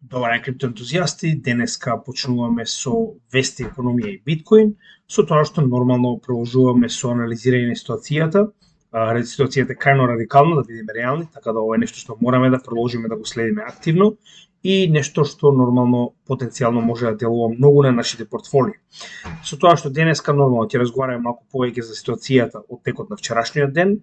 Добар ден, криптоентузијасти. Денеска почнуваме со вести, економија и биткоин, со тоа што нормално продолжуваме со анализирање на ситуацијата. Ситуацијата е крајно радикална, да бидеме реални, така да ова е нешто што мораме да продолжиме да го следиме активно и нешто што нормално потенцијално може да делува многу на нашите портфолии. Со тоа што денеска нормално ќе разговараме малку повеќе за ситуацијата од текот на вчерашниот ден,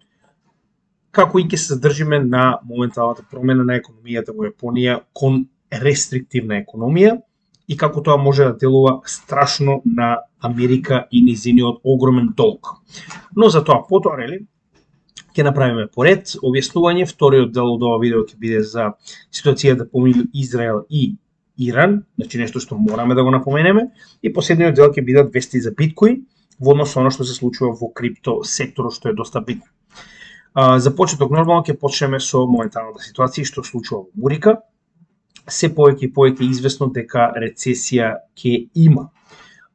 како и ќе се задржиме на моменталната промена на економијата во Јапонија кон рестриктивна економија и како тоа може да делува страшно на Америка и низиниот огромен долг. Но за тоа потоа, ќе направиме поред објаснување. Вториот дел од ова видео ќе биде за ситуацијата помеѓу Израел и Иран, значи нешто што мораме да го напоменеме, и последниот дел ќе бидат вести за биткоин во однос со она што се случува во крипто секторот, што е доста битно. За почеток нормално ќе почнеме со моменталната ситуација што се случува во Мурика. Се повеќе и повеќе известно дека рецесија ќе има.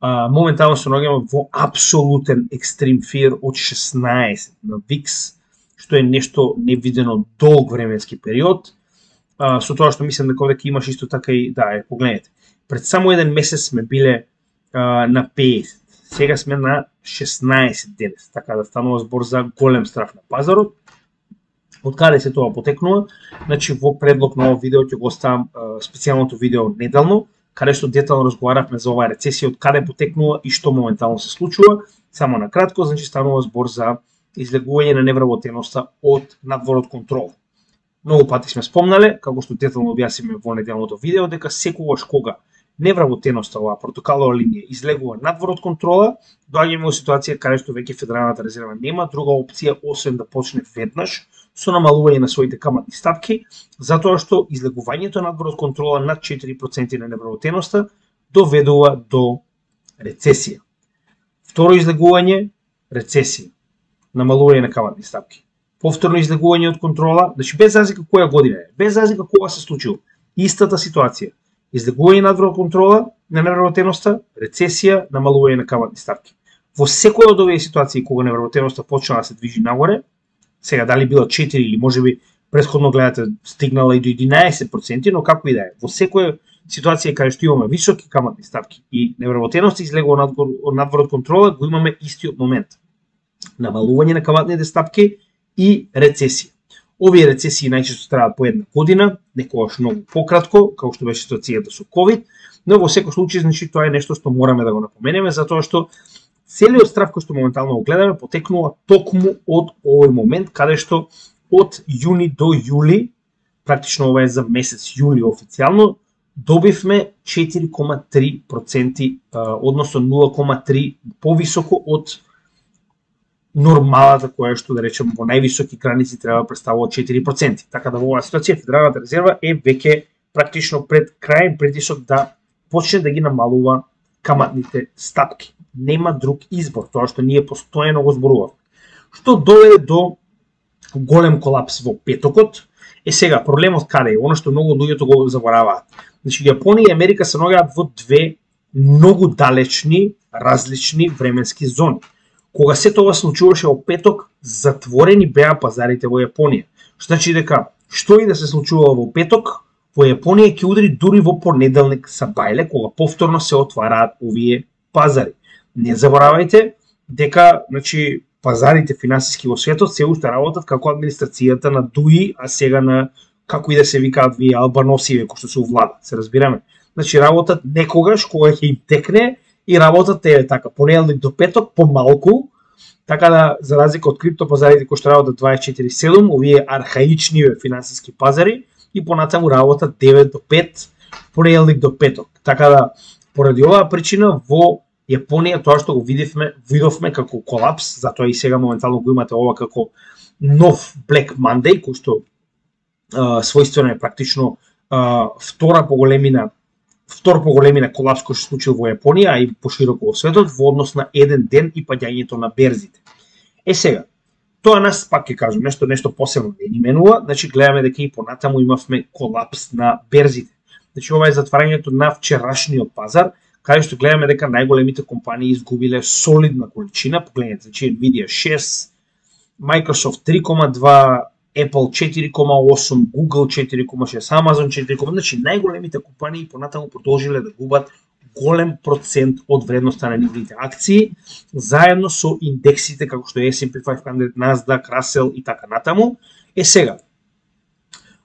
Моментално се наоѓаме во апсолутен екстрим фир од 16 на VIX, што е нешто невидено долг временски период. Со тоа што мислам дека овде имаш исто така и погледнете. Пред само еден месец сме биле на 50, сега сме на 16 денес, така да станува збор за голем страф на пазарот. Од каде се тоа потекнува? Значи во предлог на овој видео ќе го оставам специјалното видео неделно, каде што детално разговаравме за оваа рецесија, од каде потекнува и што моментално се случува. Само на кратко, значи станува збор за излегување на невработеноста од надвор од контрол. Многу пати сме спомнале, како што детално објасниме во неделното видео, дека секогаш кога невработеноста, оваа портокалова линија, излегува надвор од контрола, доаѓаме во ситуација каде што веќе Федералната резерва нема друга опција освен да почне веднаш со намалување на своите каматни стапки, затоа што излегувањето надвор од контрола над 4% на невработеноста доведува до рецесија. Второ излегување, рецесија, намалување на каматни стапки. Повторно излегување од контрола, значи без разлика која година е, без разлика кога се случило, истата ситуација. Излегување надвор од контрола на невработеноста, рецесија, намалување на каматни стапки. Во секоја од овие ситуации кога невработеноста почнала да се движи нагоре, сега дали било 4 или можеби претходно гледате стигнала и до 11%, но како и да е, во секоја ситуација каде што имаме високи каматни стапки и невработеноста излегува надвор од контрола, го имаме истиот момент. Намалување на каматните стапки и рецесија. Овие рецесии најчесто траат по една година, некогаш многу пократко, како што беше ситуацијата со COVID, но во секој случај значи тоа е нешто што мораме да го напоменеме, затоа што целиот страф кој што моментално го гледаме потекнува токму од овој момент, каде што од јуни до јули, практично ова е за месец јули официјално, добивме 4,3%, односно 0,3 повисоко од нормалата која што да речеме во највисоки граници треба да представува 4%. Така да во оваа ситуација Федералната резерва е веќе практично пред крајен притисок да почне да ги намалува каматните стапки. Нема друг избор, тоа што ние постојано го зборуваме. Што доведе до голем колапс во петокот. Сега проблемот каде е? Оно што многу луѓето го забораваат. Значи Јапонија и Америка се наоѓаат во две многу далечни, различни временски зони. Кога се тоа случуваше во петок, затворени беа пазарите во Јапонија. Што значи дека што и да се случува во петок, во Јапонија ќе удри дури во понеделник сабајле, кога повторно се отвараат овие пазари. Не заборавајте дека значи пазарите финансиски во светот се уште работат како администрацијата на ДУИ, а сега на како и да се викаат вие албаносиве кои што се увладат, се разбираме. Значи работат некогаш кога ќе им текне и работат е така понеделник до петок помалку, така да за разлика од криптопазарите кои што работат 24/7, овие архаични финансиски пазари и понатаму работат 9 до 5, понеделник до петок. Така да поради оваа причина во Јапонија тоа што го видовме како колапс, затоа и сега моментално го имате ова како нов Black Monday, кој што својствено е практично втор по големина колапс кој се случил во Јапонија, а и пошироко во светот во однос на еден ден и паѓањето на берзите. Сега, тоа нас пак ќе кажам, нешто посебно не ни менува, значи гледаме дека и понатаму имавме колапс на берзите. Значи ова е затварањето на вчерашниот пазар, каде што гледаме дека најголемите компании изгубиле солидна количина, погледнете, значи Nvidia 6, Microsoft 3,2, Apple 4,8, Google 4,6, Amazon 4,8, значи најголемите компании понатаму продолжиле да губат голем процент од вредноста на нивните акции, заедно со индексите како што е S&P 500, Nasdaq, Russell и така натаму. Сега,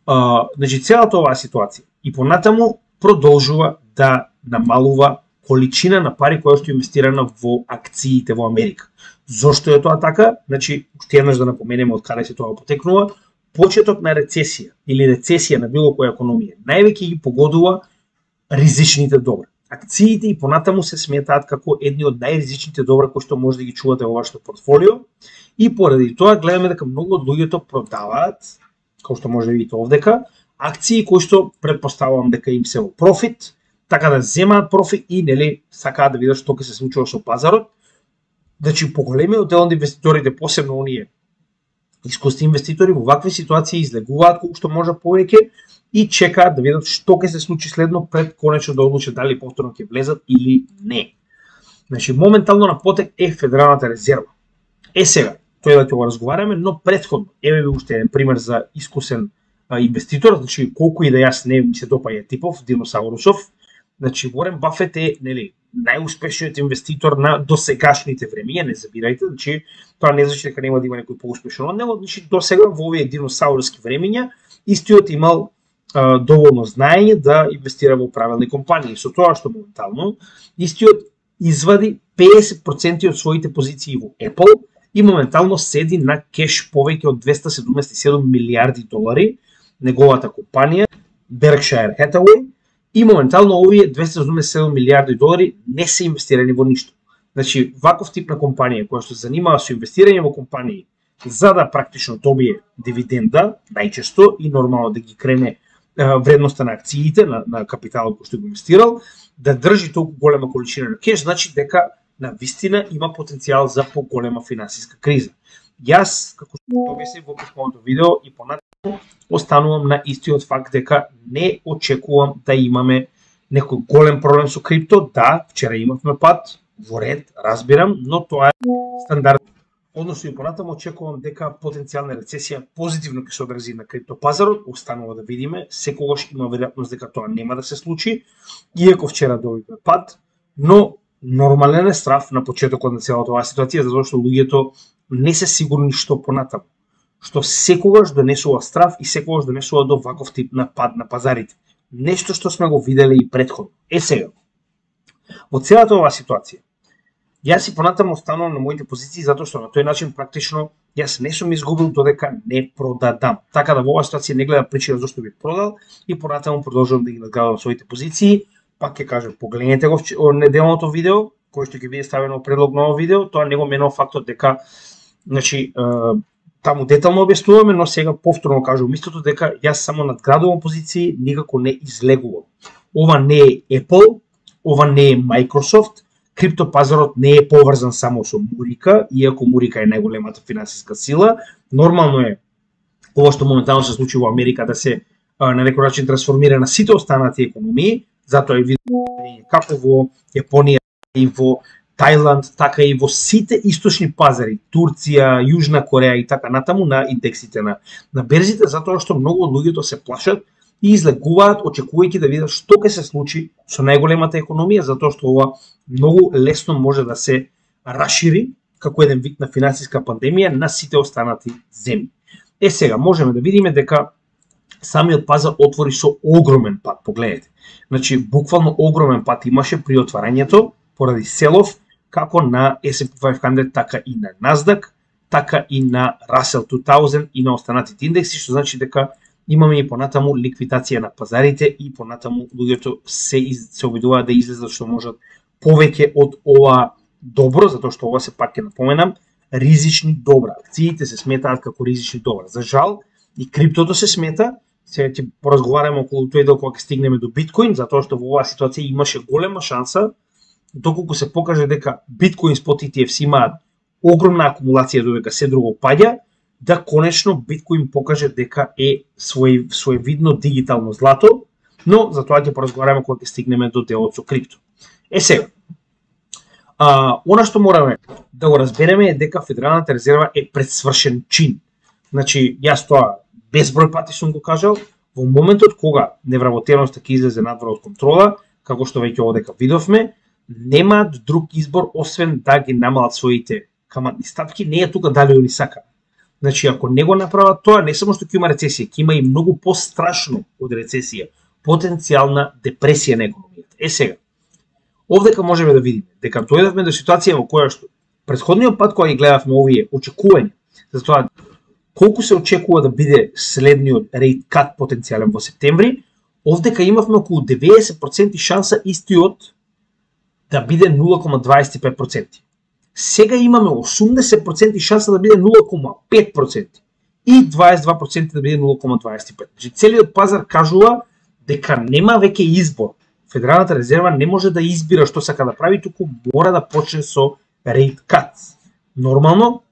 значи целата оваа ситуација и понатаму продолжува да намалува количина на пари која што е инвестирана во акциите во Америка. Зошто е тоа така? Значи, уште еднаш да напоменеме од каде се тоа потекнува. Почеток на рецесија или рецесија на било која економија највеќе ги погодува ризичните добра. Акциите и понатаму се сметаат како едни од најризичните добра кои што може да ги чувате во вашето портфолио и поради тоа гледаме дека многу од луѓето продаваат, како што може да видите овдека, акции кои што претпоставувам дека им се во профит, така да земаат профит и нели сакаат да видат што ќе се случува со пазарот. Значи поголемиот дел од инвеститорите, посебно оние искусни инвеститори, во вакви ситуации излегуваат колку што може повеќе и чекаат да видат што ќе се случи следно пред конечно да одлучат дали повторно ќе влезат или не. Значи моментално на потек е Федералната резерва. Сега, тој да ќе го разговараме, но претходно, еве ви уште еден пример за искусен инвеститор, значи колку и да јас не ми се допаѓа типов диносаурусов, значи Уорен Бафет е нели најуспешниот инвеститор на досегашните времиња, не забирајте, значи тоа не значи дека нема да има некој поуспешен од него, значи досега во овие диносауруски времиња истиот имал доволно знаење да инвестира во правилни компании. Со тоа што моментално истиот извади 50% од своите позиции во Apple и моментално седи на кеш повеќе од 277 милиарди долари, неговата компанија Berkshire Hathaway, и моментално овие 277 милиарди долари не се инвестирани во ништо. Значи, ваков тип на компанија која што се занимава со инвестирање во компании за да практично добие дивиденда, најчесто и нормално да ги крене вредноста на акциите, на капиталот кој што го инвестирал, да држи толку голема количина на кеш, значи дека на вистина има потенцијал за поголема финансиска криза. Јас, како што објаснив во претходното видео и понатаму, останувам на истиот факт дека не очекувам да имаме некој голем проблем со крипто. Да, вчера имавме пат, во ред, разбирам, но тоа е стандард. Односно и понатаму очекувам дека потенцијална рецесија позитивно ќе се одрази на криптопазарот, останува да видиме, секогаш има веројатност дека тоа нема да се случи, иако вчера добивме пат, но нормален е страв на почетокот на целата оваа ситуација, затоа што луѓето не се сигурни што понатаму, што секогаш донесува страв и секогаш донесува до ваков тип на пад на пазарите. Нешто што сме го виделе и претходно. Сега, во целата оваа ситуација, јас и понатаму останувам на моите позиции затоа што на тој начин практично јас не сум изгубил додека не продадам. Така да во оваа ситуација не гледам причина зашто би продал и понатаму продолжувам да ги надградувам своите позиции. Пак ќе кажам, погледнете го неделното видео, кој што ќе биде ставено предлог на овој видео, тоа не го менува фактот дека значи таму детално објаснуваме, но сега повторно кажувам истото дека јас само надградувам позиции, никако не излегувам. Ова не е Apple, ова не е Microsoft, криптопазарот не е поврзан само со Мурика, иако Мурика е најголемата финансиска сила. Нормално е ова што моментално се случи во Америка да се на некој начин трансформира на сите останати економии, затоа е видно како во Јапонија и во Тајланд, така и во сите источни пазари, Турција, Јужна Кореја и така натаму на индексите на берзите, затоа што многу од луѓето се плашат и излегуваат очекувајќи да видат што ќе се случи со најголемата економија, затоа што ова многу лесно може да се расшири како еден вид на финансиска пандемија на сите останати земји. Сега можеме да видиме дека самиот пазар отвори со огромен пат, погледнете. Значи буквално огромен пат имаше при отварањето поради селов како на S&P 500, така и на Nasdaq, така и на Russell 2000 и на останатите индекси, што значи дека имаме и понатаму ликвидација на пазарите и понатаму луѓето се обидуваат да излезат што можат повеќе од ова добро, затоа што ова се пак ќе напоменам, ризични добра. Акциите се сметаат како ризични добра. За жал, и криптото се смета. Сега ќе поразговараме околу тој дел кога ќе стигнеме до биткоин, затоа што во оваа ситуација имаше голема шанса, доколку се покаже дека биткоин спот ETFs имаат огромна акумулација додека се друго паѓа, да конечно биткоин покаже дека е своевидно дигитално злато, но за тоа ќе поразговараме кога ќе стигнеме до делот со крипто. Сега, она што мораме да го разбереме е дека Федералната резерва е предсвршен чин. Значи, јас тоа безброј пати сум го кажал, во моментот кога невработеноста ќе излезе надвор од контрола, како што веќе овдека видовме, немаат друг избор освен да ги намалат своите каматни стапки, не е тука дали они сака. Значи, ако не го направат тоа, не само што ќе има рецесија, ќе има и многу пострашно од рецесија, потенцијална депресија на економијата. Сега, овдека можеме да видиме дека дојдовме до ситуација во која што претходниот пат кога ги гледавме овие очекувања за тоа колку се очекува да биде следниот рейт кат потенцијален во септември, овдека имавме околу 90% шанса истиот да биде 0,25%. Сега имаме 80% шанса да биде 0,5% и 22% да биде 0,25%. Значи целиот пазар кажува дека нема веќе избор. Федералната резерва не може да избира што сака да прави, туку мора да почне со рейт кат. Нормално,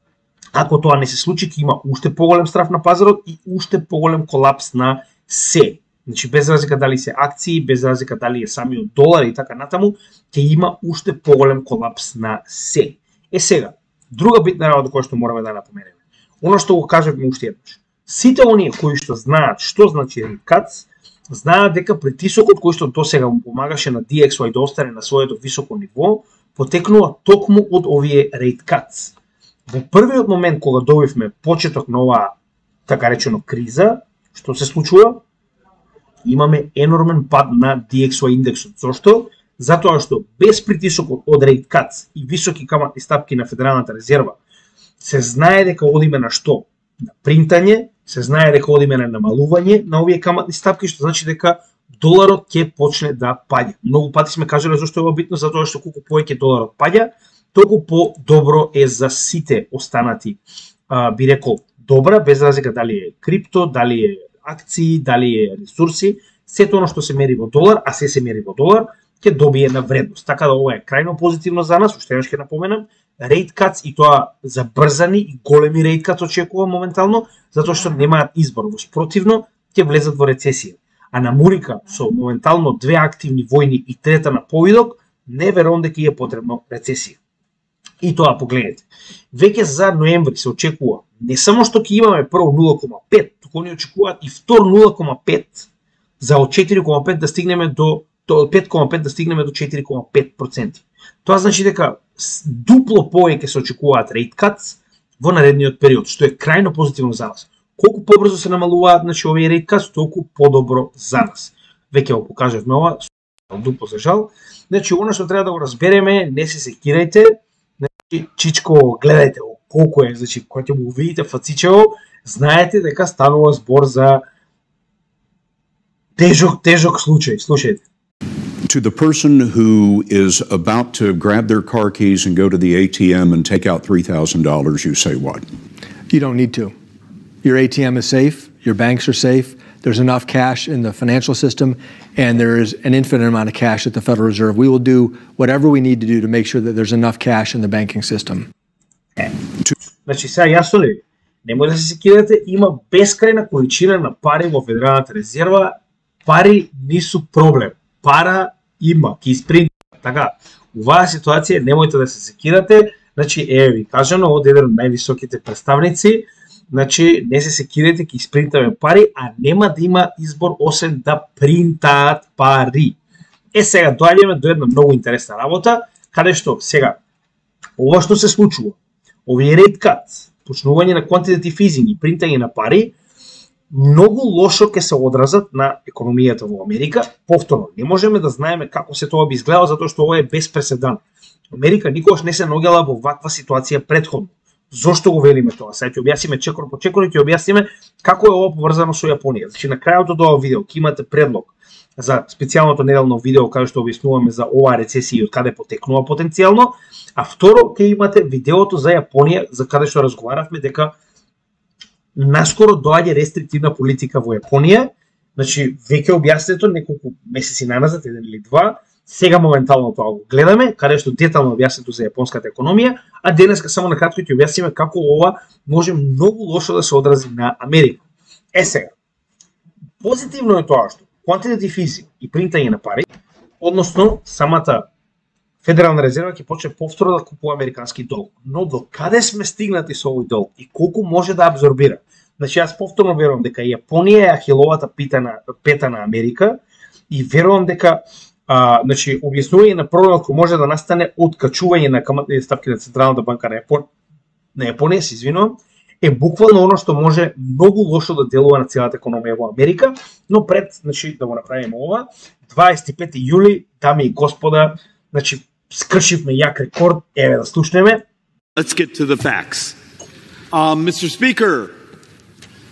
ако тоа не се случи, ќе има уште поголем страф на пазарот и уште поголем колапс на се. Значи, без разлика дали се акции, без разлика дали е самиот долар и така натаму, ќе има уште поголем колапс на се. Сега, друга битна работа која што мораме да напоменеме. Оно што го кажавме уште еднаш. Сите оние кои што знаат што значи рейт кат, знаат дека притисокот кој што досега му помагаше на DXY да остане на своето високо ниво, потекнува токму од овие рейт кат. Во првиот момент кога добивме почеток на оваа така речено криза, што се случува, имаме енормен пад на DXY индексот. Зошто? Затоа што без притисокот од рейт кат и високи каматни стапки на Федералната резерва, се знае дека одиме на што? На принтање, се знае дека одиме на намалување на овие каматни стапки, што значи дека доларот ќе почне да паѓа. Многу пати сме кажале зашто е ова битно, затоа што колку повеќе доларот паѓа, толку по-добро е за сите останати, би рекол, добра, без разлика дали е крипто, дали е акции, дали е ресурси, сето оно што се мери во долар, а се мери во долар, ќе добие на вредност. Така да ова е крајно позитивно за нас, уште еднаш ќе напоменам, рейт катс и тоа забрзани и големи рейт катс очекува моментално, затоа што немаат избор, во спротивно ќе влезат во рецесија. А на Мурика со моментално 2 активни војни и трета на повидок, не верувам дека е потребно рецесија. И тоа погледнете. Веќе за ноември се очекува не само што ќе имаме прво 0,5, туку они очекуваат и втор 0,5 за од 4,5 да стигнеме до 5,5 да стигнеме до 4,5%. Тоа значи дека дупло повеќе се очекуваат рейт катс во наредниот период, што е крајно позитивно за нас. Колку побрзо се намалуваат значи овие рейт катс, толку подобро за нас. Веќе го покажавме ова, дупло за жал. Значи она што треба да го разбереме, не се секирајте. Значи чичко гледајте колку е, значи кога ќе го видите фацичево, знаете дека станува збор за тежок случај. Слушајте. To the person who is about to grab their car keys and go to the ATM and take out $3,000, you say what? You don't need to. Your ATM is safe, your banks are safe, there's enough cash in the financial system, and there is an infinite amount of cash at the Federal Reserve. We will do whatever we need to do to make sure that there's enough cash in the banking system. Значи, сега јасно ли? Немој да се секирате, има бескрајна количина на пари во Федералната резерва, пари нису проблем. Пара има, ќе испринта. Така, оваа ситуација немојте да се секирате, значи ви кажано од еден од највисоките представници, значи не се секирате, ќе испринтаме пари, а нема да има избор освен да принтаат пари. Сега доаѓаме до една многу интересна работа, каде што сега ова што се случува, овие рейт кат, почнување на quantitative easing и принтање на пари, многу лошо ќе се одразат на економијата во Америка. Повторно, не можеме да знаеме како се тоа би изгледало, затоа што ова е без преседан. Америка никогаш не се наоѓала во ваква ситуација претходно. Зошто го велиме тоа? Сега ќе објасниме чекор по чекор и ќе објасниме како е ова поврзано со Јапонија. Значи на крајот од ова видео ќе имате предлог за специјалното неделно видео каде што објаснуваме за оваа рецесија и од каде потекнува потенцијално, а второ ќе имате видеото за Јапонија за каде што разговаравме дека наскоро доаѓа рестриктивна политика во Јапонија, значи веќе објаснето неколку месеци наназад, еден или два, сега моментално тоа го гледаме, каде што детално објаснето за јапонската економија, а денеска само на кратко ќе објасниме како ова може многу лошо да се одрази на Америка. Сега, позитивно е тоа што quantitative easing и принтање на пари, односно самата Федерална резерва ќе почне повторно да купува американски долг. Но до каде сме стигнати со овој долг и колку може да абсорбира? Значи јас повторно верувам дека Јапонија е ахиловата пета на Америка и верувам дека значи објаснување на проблемот кој може да настане од качување на каматните ставки на Централната банка на Јапонија, се извинувам, е буквално оно што може многу лошо да делува на целата економија во Америка, но пред, значи, да го направиме ова, 25 јули, дами и господа, значи, скршивме јак рекорд, еве да слушнеме. Let's get to the facts. Mr. Speaker,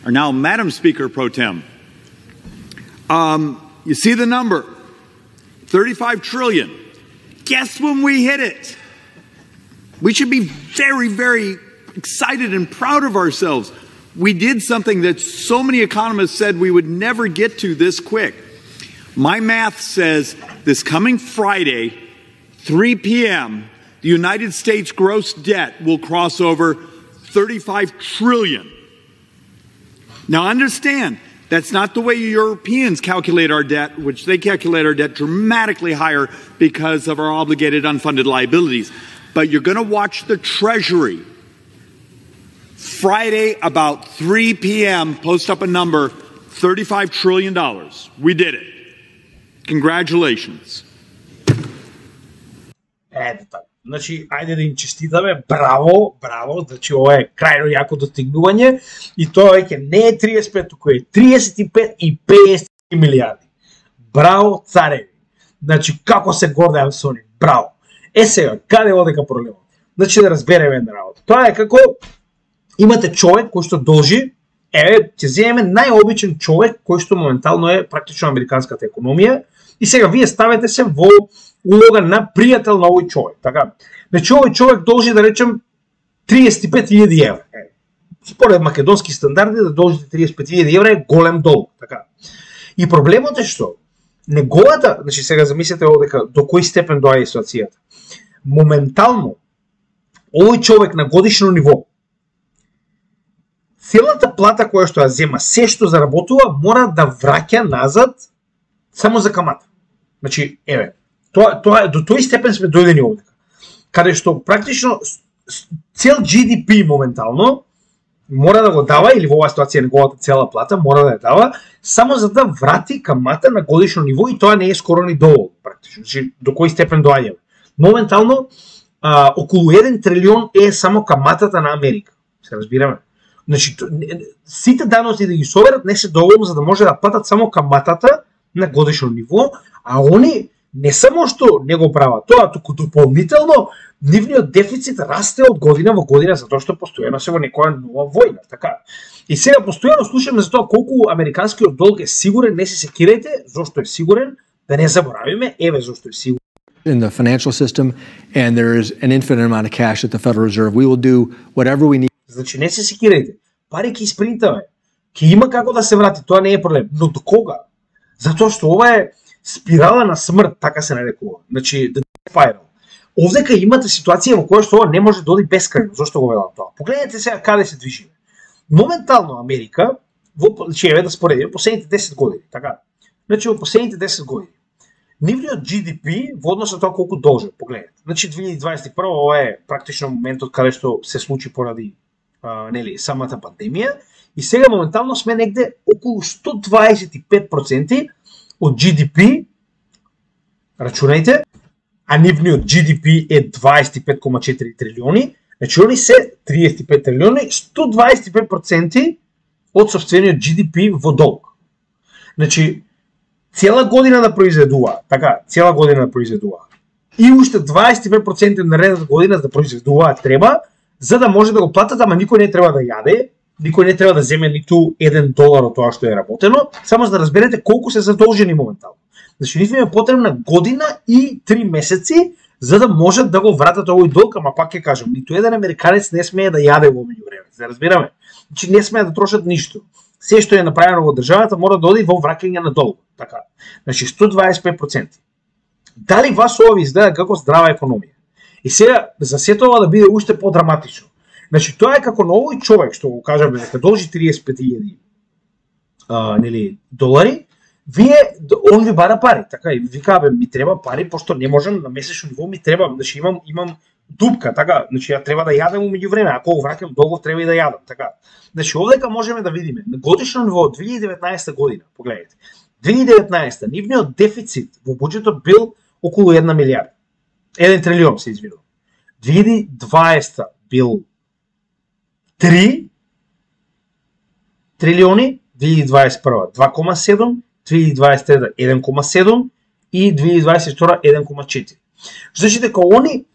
or now Madam Speaker Pro Tem, you see the number, 35 trillion. Guess when we hit it? We should be very, very excited and proud of ourselves. We did something that so many economists said we would never get to this quick. My math says this coming Friday, 3 p.m., the United States gross debt will cross over 35 trillion. Now understand, that's not the way Europeans calculate our debt, which they calculate our debt dramatically higher because of our obligated unfunded liabilities. But you're going to watch the Treasury Friday about 3 p.m. post up a number, $35 trillion. We did it. Congratulations. Ето така. Значи, ајде да им честитаме, браво, браво, значи ова е крајно јако достигнување и тоа веќе не е 35, туку е 35 и 50 милиарди. Браво, цареви. Значи, како се гордеам со нив, браво. Сега, каде одека проблемот? Значи, да разбереме една работа. Тоа е како имате човек кој што должи, ќе земеме најобичен човек кој што моментално е практично американската економија и сега вие ставете се во улога на пријател на овој човек, така? Значи овој човек должи да речем 35.000 евра. Според македонски стандарди да должите 35.000 евра е голем долг, така? И проблемот е што неговата, значи сега замислете дека до кој степен доаѓа ситуацијата. Моментално овој човек на годишно ниво целата плата која што ја зема, се што заработува, мора да враќа назад само за камата. Значи, еве, тоа до тој степен сме дојдени овдека. Каде што практично цел GDP моментално мора да го дава, или во оваа ситуација неговата цела плата мора да ја дава, само за да врати камата на годишно ниво и тоа не е скоро ни доволно, практично. Значи, до кој степен доаѓаме. Моментално, околу 1 трилион е само каматата на Америка. Се разбираме? Значи, сите даноци да ги соберат не се доволно за да може да платат само каматата на годишно ниво, а они не само што не го прават тоа, туку дополнително нивниот дефицит расте од година во година затоа што постојано се во некоја нова војна, така. И сега постојано слушаме за тоа колку американскиот долг е сигурен, не се секирајте, зошто е сигурен, да не заборавиме, еве зошто е сигурен. In the financial system, and there is an infinite amount of cash at the Federal Reserve. We will do whatever we need. Значи не се секирајте, пари ќе испринтаме, ќе има како да се врати, тоа не е проблем, но до кога? Затоа што ова е спирала на смрт, така се нарекува. Значи, the spiral. Овдека имате ситуација во која што ова не може да оди бескрајно. Зошто го велам тоа? Погледнете сега каде се движиме. Моментално Америка, значи еве да споредиме последните 10 години, така. Значи во последните 10 години нивниот GDP во однос на тоа колку должи, погледнете. Значи 2021 ова е практично моментот каде што се случи поради нели самата пандемија и сега моментално сме негде околу 125% од GDP, рачунајте, а нивниот GDP е 25,4 трилиони, значи они се 35 трилиони, 125% од сопствениот GDP во долг. Значи, цела година да произведува, така, цела година да произведува. И уште 25% наредната година да произведуваат треба, за да може да го платат, ама никој не треба да јаде, никој не треба да земе ниту $1 од тоа што е работено, само за да разберете колку се задолжени моментално. Значи, нив е потребна година и 3 месеци, за да можат да го вратат овој долг, ама пак ќе кажам, ниту еден американец не смее да јаде во меѓувреме, да разбираме. Значи, не смее да трошат ништо. Се што е направено во државата мора да оди во враќање на долг, така. Значи 125%. Дали вас ова ви изгледа како здрава економија? И сега за сето ова да биде уште подраматично. Значи тоа е како на овој човек што го кажаме дека должи 35.000 нели долари, он ви бара пари, така и вика бе ми треба пари пошто не можам на месечно ниво ми треба, значи имам дупка, така, значи ја треба да јадам умеѓу време, ако го враќам долго треба и да јадам, така. Значи овдека можеме да видиме на годишно ниво 2019 година, погледнете. 2019 нивниот дефицит во буџетот бил околу 1 милијарда. 1 трилион се извинувам. 2020 бил 3 трилиони, 2021 2,7, 2023 1,7 и 2022 1,4. Значи дека они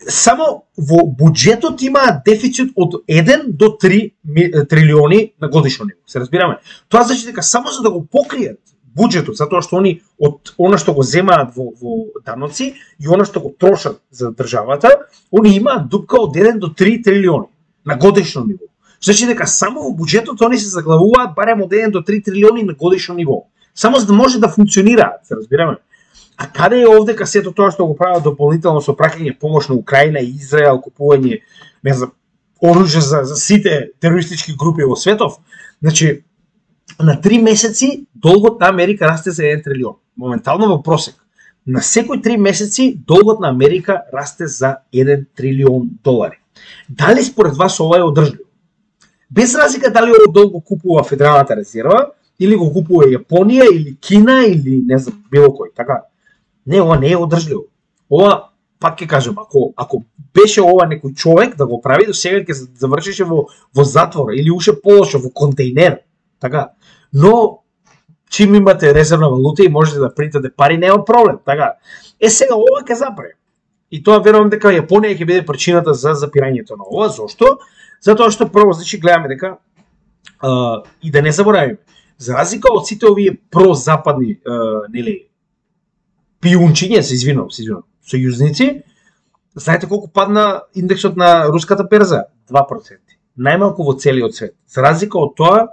само во буџетот имаат дефицит од 1 до 3 трилиони на годишно ниво. Се разбираме? Тоа значи дека само за да го покријат буџетот, затоа што они од она што го земаат во даноци и она што го трошат за државата, они имаат дупка од 1 до 3 трилиони на годишно ниво. Значи дека само во буџетот они се заглавуваат барем од 1 до 3 трилиони на годишно ниво. Само за да може да функционираат, се разбираме? А каде е овдека сето тоа што го прават дополнително со праќање помош на Украина и Израел, купување, не знам, оружје за сите терористички групи во светов? Значи, на 3 месеци долгот на Америка расте за 1 трилион. Моментално во просек. На секој 3 месеци долгот на Америка расте за 1 трилион долари. Дали според вас ова е одржливо? Без разлика дали овој долг го купува Федералната резерва, или го купува Јапонија, или Кина, или не знам, било кој, така. Не, ова не е одржливо. Ова, пак ќе кажам, ако беше ова некој човек да го прави, до сега ќе завршише во затвор, или уште полошо, во контейнер, така. Но, чим имате резервна валута и можете да принтате пари, нема проблем, така. Сега ова ќе запре. И тоа верувам дека Јапонија ќе биде причината за запирањето на ова. Зошто? Затоа што прво, значи, гледаме дека и да не заборавиме, за разлика од сите овие прозападни нели пиунчиња, се извинувам, сојузници, знаете колку падна индексот на руската берза? 2%. Најмалку во целиот свет. За разлика од тоа,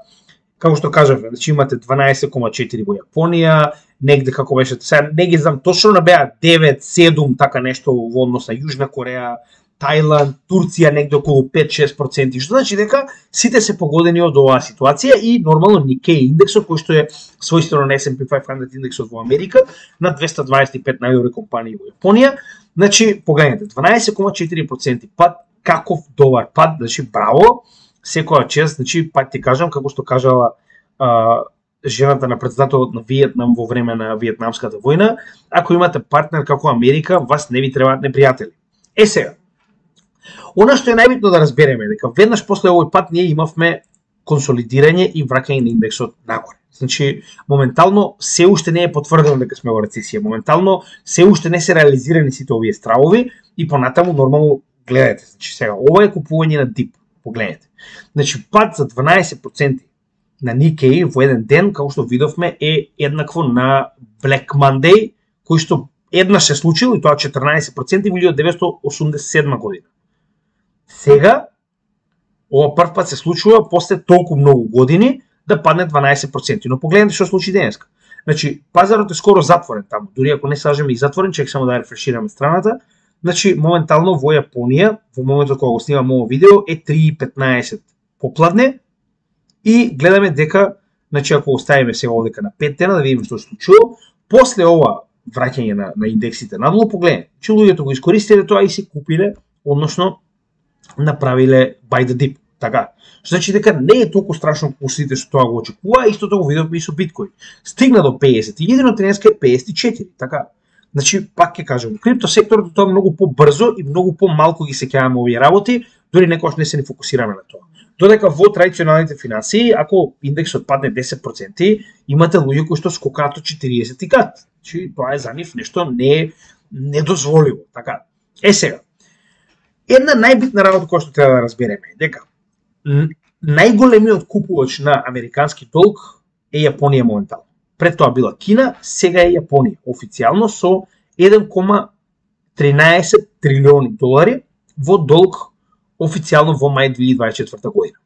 како што кажавме, значи имате 12,4 во Јапонија, негде како беше, сега не ги знам точно, но беа 9, 7, така нешто во однос на Јужна Кореја, Тајланд, Турција негде околу 5-6%, што значи дека сите се погодени од оваа ситуација и нормално Nikkei индексот, кој што е својствено на S&P 500 индексот во Америка, на 225 најдобри компании во Јапонија, значи погледнете, 12,4% пад, каков добар пад, значи браво, секоја чест, значи пак ти кажам, како што кажала жената на претседателот на Виетнам во време на Виетнамската војна, ако имате партнер како Америка, вас не ви требаат непријатели. Сега, она што е најбитно да разбереме дека веднаш после овој пат ние имавме консолидирање и враќање на индексот нагоре. Значи, моментално се уште не е потврдено дека сме во рецесија, моментално се уште не се реализирани сите овие стравови и понатаму нормално гледате. Значи, сега ова е купување на дип, погледнете. Значи, пат за 12% на Nikkei во еден ден, како што видовме, е еднакво на Black Monday, кој што еднаш се случил и тоа 14% во 1987 година. Сега, ова прв пат се случува после толку многу години да падне 12%. Но погледнете што случи денеска. Значи, пазарот е скоро затворен таму. Дури ако не сажеме и затворен, чек само да рефрешираме страната. Значи, моментално во Јапонија, во моментот кога го снимам ово видео, е 3,15 попладне и гледаме дека, значи ако оставиме сега овдека на 5 дена да видиме што се случило, после ова враќање на индексите надолу, погледнете, че луѓето го искористиле тоа и се купиле, односно направиле buy the dip, така. Значи дека не е толку страшно како сите што тоа го очекува, истото го видовме и со биткоин. Стигна до 50 и едино денеска е 54, така. Значи, пак ќе кажам, криптосекторот тоа многу побрзо и многу помалку ги сеќаваме овие работи, дури некогаш не се ни фокусираме на тоа. Додека во традиционалните финансии, ако индексот падне 10%, имате луѓе кои што скокаат од 40 и кат. Значи, тоа е за нив нешто недозволиво, така. Сега, една најбитна работа која што треба да разбереме е дека најголемиот купувач на американски долг е Јапонија моментално. Пред тоа била Кина, сега е Јапонија, официјално со 1,13 трилиони долари во долг официјално во мај 2024 година.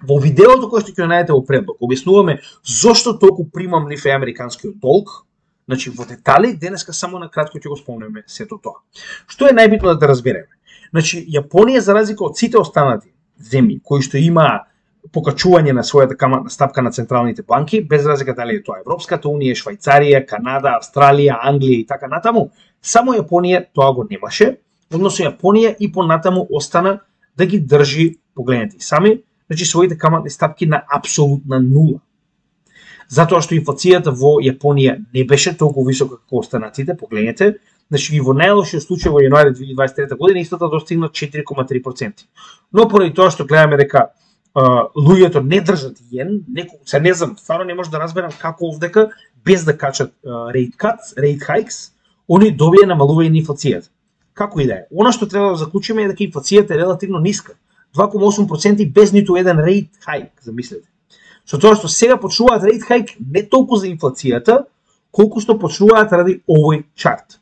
Во видеото кое што ќе најдете во предлог, објаснуваме зошто толку примамлив е американскиот долг. Значи во детали, денеска само на кратко ќе го спомнеме сето тоа. Што е најбитно да разбереме? Значи, Јапонија, за разлика од сите останати земји кои што има покачување на својата каматна стапка на централните банки, без разлика дали е тоа Европската унија, Швајцарија, Канада, Австралија, Англија и така натаму, само Јапонија тоа го немаше, Односно Јапонија и понатаму остана да ги држи, погледнете сами, значи своите каматни стапки на апсолутна нула. Затоа што инфлацијата во Јапонија не беше толку висока како останатите, погледнете, значи во најлошиот случај во јануари 2023 година истата достигна 4,3%. Но поради тоа што гледаме дека луѓето не држат јен, се не знам, стварно не може да разберам како овдека без да качат rate hikes, они добија намалување на инфлацијата. Како и да е. Она што треба да заклучиме е дека инфлацијата е релативно ниска. 2,8% без ниту еден rate hike, замислете. Со тоа што сега почнуваат rate hike не толку за инфлацијата, колку што почнуваат ради овој чарт.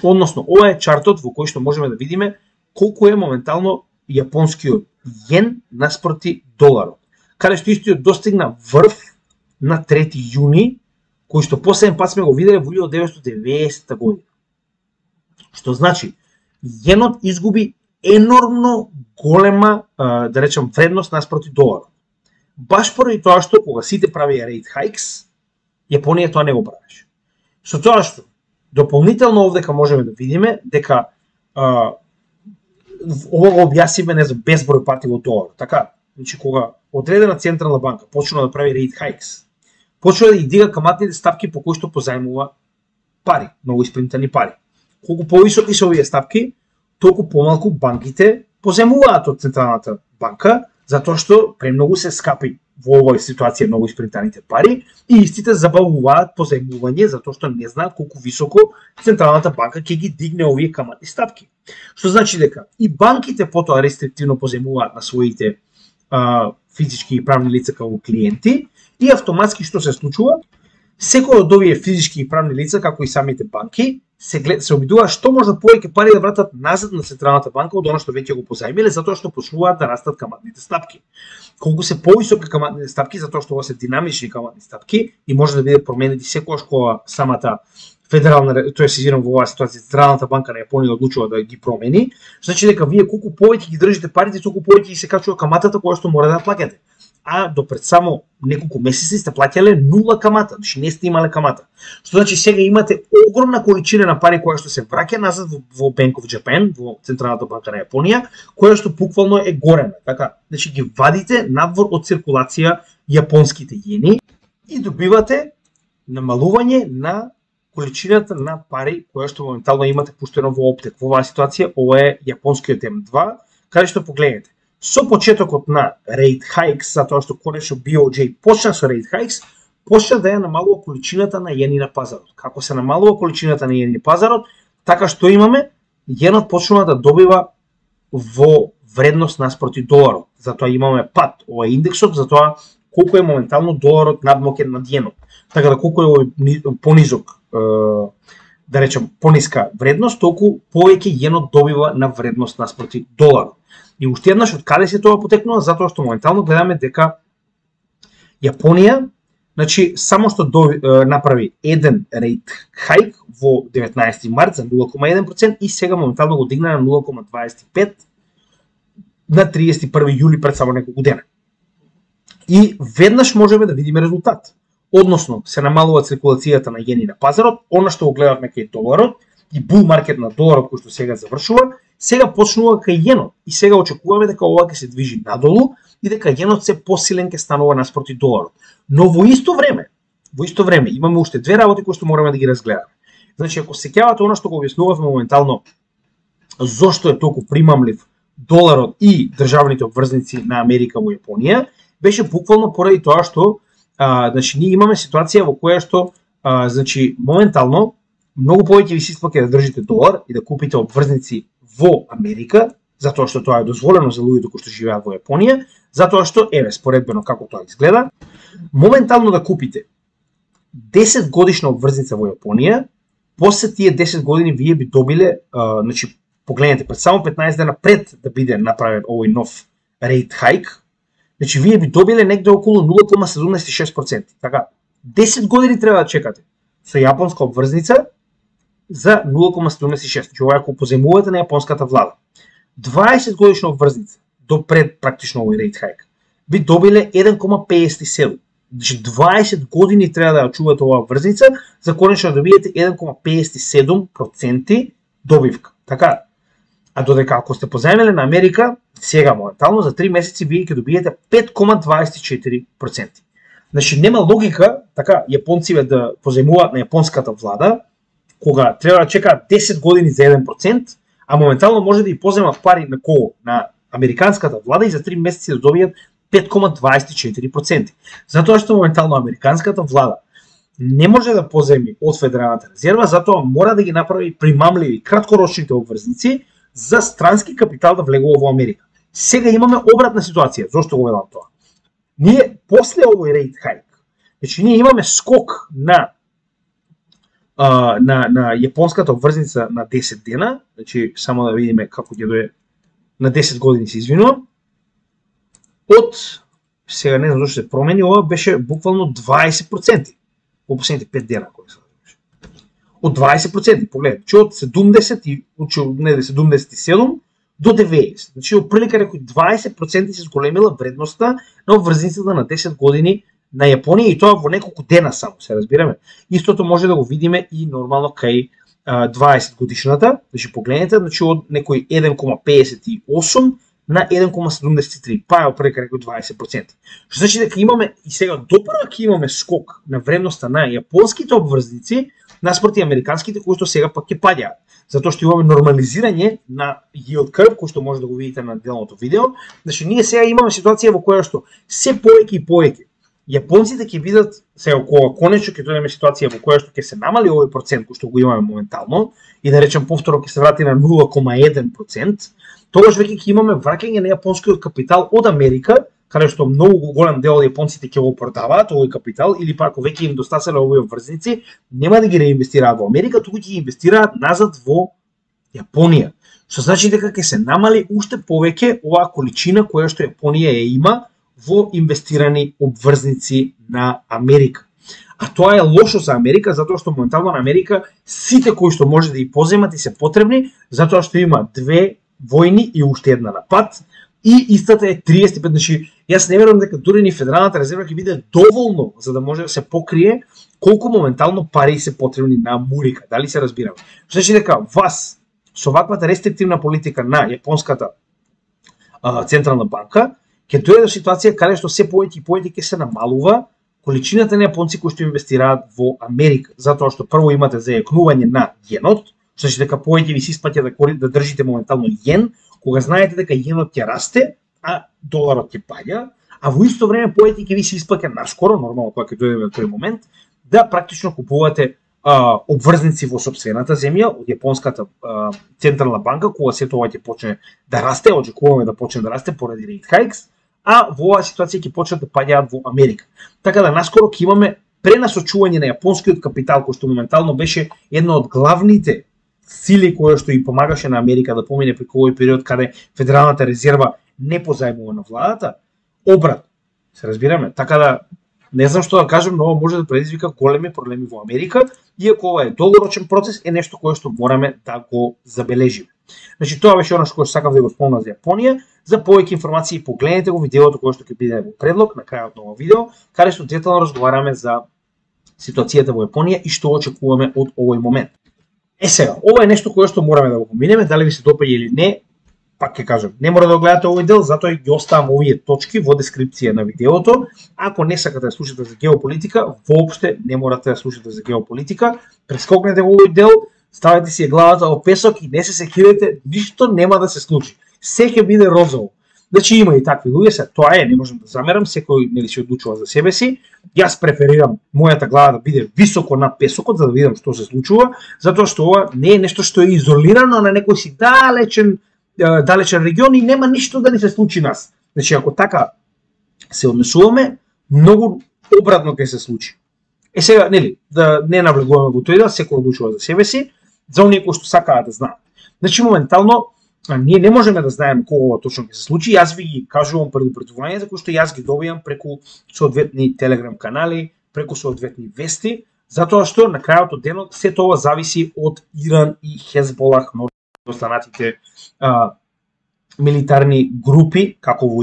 Односно, ова е чартот во кој што можеме да видиме колку е моментално јапонскиот јен наспроти доларот. Каде што истиот достигна врв на 3 јуни, кој што последен пат сме го виделе во 1990 година. Што значи, јенот изгуби енормно голема, да речем, вредност наспроти доларот. Баш поради тоа што кога сите правија rate hikes, Јапонија тоа не го правеше. Со тоа што дополнително овдека можеме да видиме дека ова го објасниме, не знам, безброј пати во долар. Така, значи кога одредена централна банка почна да прави rate hikes, почна да ги дига каматните стапки по кои што позајмува пари, многу испринтани пари. Колку повисоки се овие стапки, толку помалку банките позајмуваат од централната банка, затоа што премногу се скапи во овој ситуација многу испринтаните пари и истите забавуваат позајмување затоа што не знаат колку високо централната банка ќе ги дигне овие каматни стапки. Што значи дека и банките потоа рестриктивно позајмуваат на своите физички и правни лица како клиенти и автоматски што се случува, секој од овие физички и правни лица, како и самите банки, се обидуваат што може повеќе пари да вратат назад на централната банка од она што веќе го позајмиле, затоа што почнуваат да растат каматните стапки. Колку се повисоки каматните стапки, затоа што ова се динамични каматни стапки и може да биде променети секогаш кога самата федерална, тоа се изирам во оваа ситуација, централната банка на Јапонија одлучува да ги промени, значи дека вие колку повеќе ги држите парите, толку повеќе ги се качува каматата која што мора да плаќате. А до пред само неколку месеци сте плаќале нула камата, значи не сте имале камата. Што значи сега имате огромна количина на пари која што се враќа назад во Bank of Japan, во Централната банка на Јапонија, која што буквално е горена. Така, значи ги вадите надвор од циркулација јапонските јени и добивате намалување на количината на пари која што моментално имате пуштено во оптек. Во оваа ситуација ова е јапонскиот М2, каде што погледнете. Со почетокот на rate hikes, затоа што конечно BOJ почна со rate hikes, почна да ја намалува количината на јени на пазарот. Како се намалува количината на јени на пазарот, така што имаме, јенот почнува да добива во вредност наспроти доларот. Затоа имаме пат, ова е индексот, затоа колку е моментално доларот надмокен над јенот. Така да колку е понизок, да речем, пониска вредност, толку повеќе јенот добива на вредност наспроти доларот. И уште еднаш од каде се тоа потекнува, затоа што моментално гледаме дека Јапонија, значи само што направи еден rate hike во 19 март за 0,1% и сега моментално го дигна на 0,25 на 31 јули пред само неколку дена. И веднаш можеме да видиме резултат. Односно, се намалува циркулацијата на јени на пазарот, она што го гледавме кај доларот и бул маркет на доларот кој што сега завршува, сега почнува кај јенот и сега очекуваме дека ова ќе се движи надолу и дека јенот се посилен ќе станува наспроти доларот. Но во исто време имаме уште две работи кои што мораме да ги разгледаме. Значи, ако се сеќавате она што го објаснувавме моментално, зошто е толку примамлив доларот и државните обврзници на Америка во Јапонија, беше буквално поради тоа што значи ние имаме ситуација во која што значи моментално многу повеќе ви се исплаќа да држите долар и да купите обврзници во Америка, затоа што тоа е дозволено за луѓето кои што живеат во Јапонија, затоа што еве споредбено како тоа изгледа, моментално да купите 10 годишна обврзница во Јапонија, после тие 10 години вие би добиле, значи погледнете пред само 15 дена пред да биде направен овој нов rate hike, значи вие би добиле негде околу 0,76%. Така, 10 години треба да чекате со јапонска обврзница за 0,76. Значи ова ако позајмувате на јапонската влада. 20 годишна обврзница до пред практично овој rate hike би добиле 1,57. Значи 20 години треба да ја чувате оваа обврзница за конечно да добиете 1,57% добивка. Така. А додека ако сте позајмиле на Америка, сега моментално за 3 месеци вие ќе добиете 5,24%. Значи нема логика така јапонците да позајмуваат на јапонската влада, кога треба да чекаат 10 години за 1%, а моментално може да и поземат пари на кого? На американската влада и за 3 месеци да добијат 5,24%. Затоа што моментално американската влада не може да поземи од Федералната резерва, затоа мора да ги направи примамливи краткорочните обврзници за странски капитал да влегува во Америка. Сега имаме обратна ситуација. Зошто го велам тоа? Ние после овој рейт хајк, значи ние имаме скок на јапонската обврзница на 10 дена, значи само да видиме како ќе дое на 10 години се извинувам. Од сега не знам зашто се промени, ова беше буквално 20% во последните 5 дена кои се случи. Од 20%, погледнете, че од 70 и не 77 до 90. Значи оприлика некои 20% се зголемила вредноста на обврзницата на 10 години на Јапонија и тоа во неколку дена само, се разбираме. Истото може да го видиме и нормално кај 20 годишната, значи погледнете, значи од некој 1,58 на 1,73, па е опрека некој 20%. Што значи дека имаме и сега допрва ќе имаме скок на вредноста на јапонските обврзници наспроти американските кои што сега пак ќе паѓаат. Затоа што имаме нормализирање на yield curve, кој што може да го видите на делното видео. Значи ние сега имаме ситуација во која што се повеќе и повеќе јапонците ќе видат сега кога конечно ќе дојдеме ситуација во која што ќе се намали овој процент кој што го имаме моментално и да речем повторно ќе се врати на 0,1%, тогаш веќе ќе имаме враќање на јапонскиот капитал од Америка, каде што многу голем дел од јапонците ќе го продаваат овој капитал или пак ако веќе им достаселе овој обврзници, нема да ги реинвестираат во Америка, туку ќе ги инвестираат назад во Јапонија. Што значи дека ќе се намали уште повеќе оваа количина која што Јапонија ја има во инвестирани обврзници на Америка. А тоа е лошо за Америка, затоа што моментално на Америка сите кои што може да ги поземат и се потребни, затоа што има 2 војни и уште една на пат, и истата е 35, значи јас не верувам дека дури ни Федералната резерва ќе биде доволно за да може да се покрие колку моментално пари се потребни на Америка. Дали се разбираме? Значи дека вас со ваквата рестриктивна политика на јапонската централна банка ќе дојде до ситуација каде што се повеќе и повеќе ќе се намалува количината на јапонци кои што инвестираат во Америка, затоа што прво имате зајакнување на јенот, што значи дека повеќе ви се исплаќа да држите моментално јен, кога знаете дека јенот ќе расте, а доларот ќе паѓа, а во исто време повеќе ќе ви се исплаќа наскоро, нормално кога ќе дојдеме до тој момент, да практично купувате обврзници во сопствената земја од јапонската централна банка, кога сето ова ќе почне да расте, очекуваме да почне да расте поради рейт хајкс, а во оваа ситуација ќе почнат да паѓаат во Америка. Така да наскоро ќе имаме пренасочување на јапонскиот капитал, кој што моментално беше една од главните сили која што и помагаше на Америка да помине преку овој период каде Федералната резерва не позајмува на владата, обрат, се разбираме. Така да не знам што да кажам, но ова може да предизвика големи проблеми во Америка, иако ова е долгорочен процес, е нешто кое што мораме да го забележиме. Значи тоа беше она што сакав да го спомнам за Јапонија. За повеќе информации погледнете го видеото кое што ќе биде во предлог на крајот на овој видео, каде што детално разговараме за ситуацијата во Јапонија и што очекуваме од овој момент. Сега, ова е нешто кое што мораме да го поминеме, дали ви се допаѓа или не, пак ќе кажам, не мора да го гледате овој дел, затоа ги оставам овие точки во дескрипција на видеото. Ако не сакате да слушате за геополитика, воопште не морате да слушате за геополитика, прескокнете го овој дел, ставете си главата во песок и не се секирете, ништо нема да се случи. Се ќе биде розово. Значи има и такви луѓе, се тоа е, не можам да замерам, секој нели се одлучува за себе си. Јас преферирам мојата глава да биде високо над песокот за да видам што се случува, затоа што ова не е нешто што е изолирано на некој си далечен регион и нема ништо да ни се случи нас. Значи ако така се однесуваме, многу обратно ќе се случи. Сега, нели, да не навлегуваме во тој да секој одлучува за себе си, за оние кои што сакаат да знаат. Значи моментално ние не можеме да знаеме кога точно ќе се случи. Јас ви ги кажувам предупредување за кои што јас ги добивам преку соодветни телеграм канали, преку соодветни вести, затоа што на крајот од денот се тоа зависи од Иран и Хезболах, но останатите милитарни групи, како во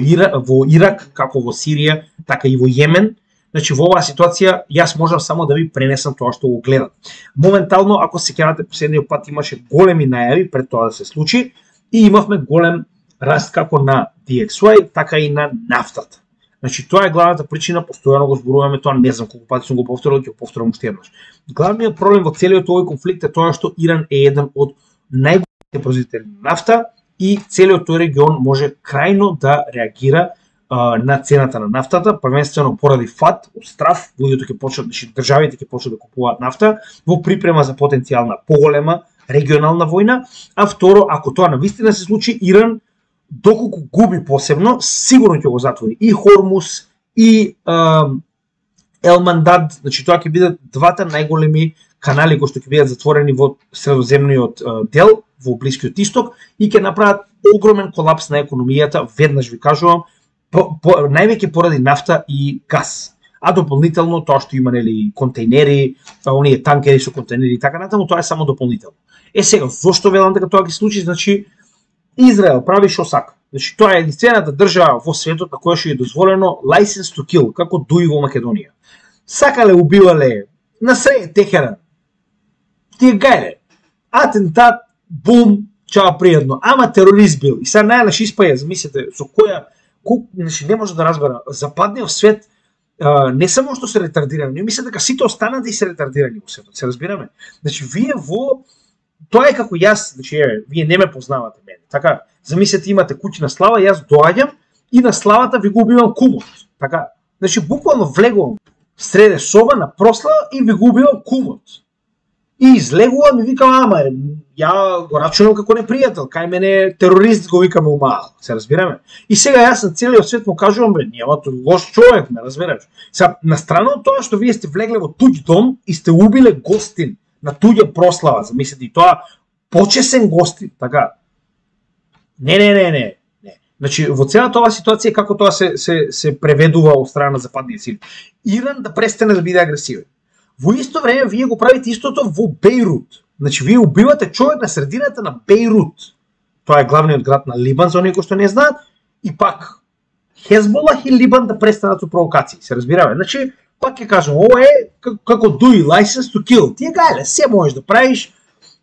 Ирак, како во Сирија, така и во Јемен. Значи во оваа ситуација јас можам само да ви пренесам тоа што го гледам. Моментално, ако се сеќавате последниот пат имаше големи најави пред тоа да се случи и имавме голем раст како на DXY, така и на нафтата. Значи, тоа е главната причина, постојано го зборуваме тоа, не знам колку пати сум го повторил, ќе го повторам уште еднаш. Главниот проблем во целиот овој конфликт е тоа што Иран е еден од најголемите производители на нафта и целиот тој регион може крајно да реагира на цената на нафтата, првенствено поради фат, од страф, луѓето ќе почнат, државите ќе почнат да купуваат нафта во припрема за потенцијална поголема регионална војна, а второ, ако тоа навистина се случи, Иран доколку губи посебно, сигурно ќе го затвори и Хормус и Елмандад, значи тоа ќе бидат двата најголеми канали кои што ќе бидат затворени во средоземниот дел, во Блискиот Исток, и ќе направат огромен колапс на економијата, веднаш ви кажувам, највеќе поради нафта и газ. А дополнително тоа што има нели контейнери, оние танкери со контейнери и така натаму, тоа е само дополнително. Сега, зошто велам дека тоа ќе случи? Значи, Израел прави шо сака. Значи, тоа е единствената држава во светот на која што е дозволено license to kill, како дуи во Македонија. Сакале, убивале, на среде Техеран. Тие гајле. Атентат, бум, чао пријатно. Ама терорист бил. И сега најнаш испаја, замислете, со која, значи, не може да разбера, западниот свет не само што се ретардирани, не мислам дека сите останати се ретардирани во светот, се разбираме. Значи, вие тоа е како јас, значи, вие не ме познавате мене. Така, замислете, имате куќна слава, јас доаѓам и на славата ви го убивам кумот. Така, значи, буквално влегувам среде соба на прослава и ви го убивам кумот. И излегувам и викам, ама, ја го рачунам како непријател, кај мене терорист го викаме умаал, се разбираме. И сега јас на целиот свет му кажувам, бе, нема тој лош човек, ме разбираш. Сега, на страна од тоа што вие сте влегле во туѓ дом и сте убиле гостин на туѓа прослава, замислете, и тоа почесен гостин, така. Не. Значи, во целата оваа ситуација, како тоа се преведува од страна на западните сили. Иран да престане да биде агресивен. Во исто време, вие го правите истото во Бејрут. Значи, вие убивате човек на средината на Бејрут. Тоа е главниот град на Либан, за оние кои што не знаат. И пак, Хезболах и Либан да престанат со провокации, се разбираме. Значи, пак ќе кажам, ова е како дуи, license to kill. Тие гајле, се можеш да правиш,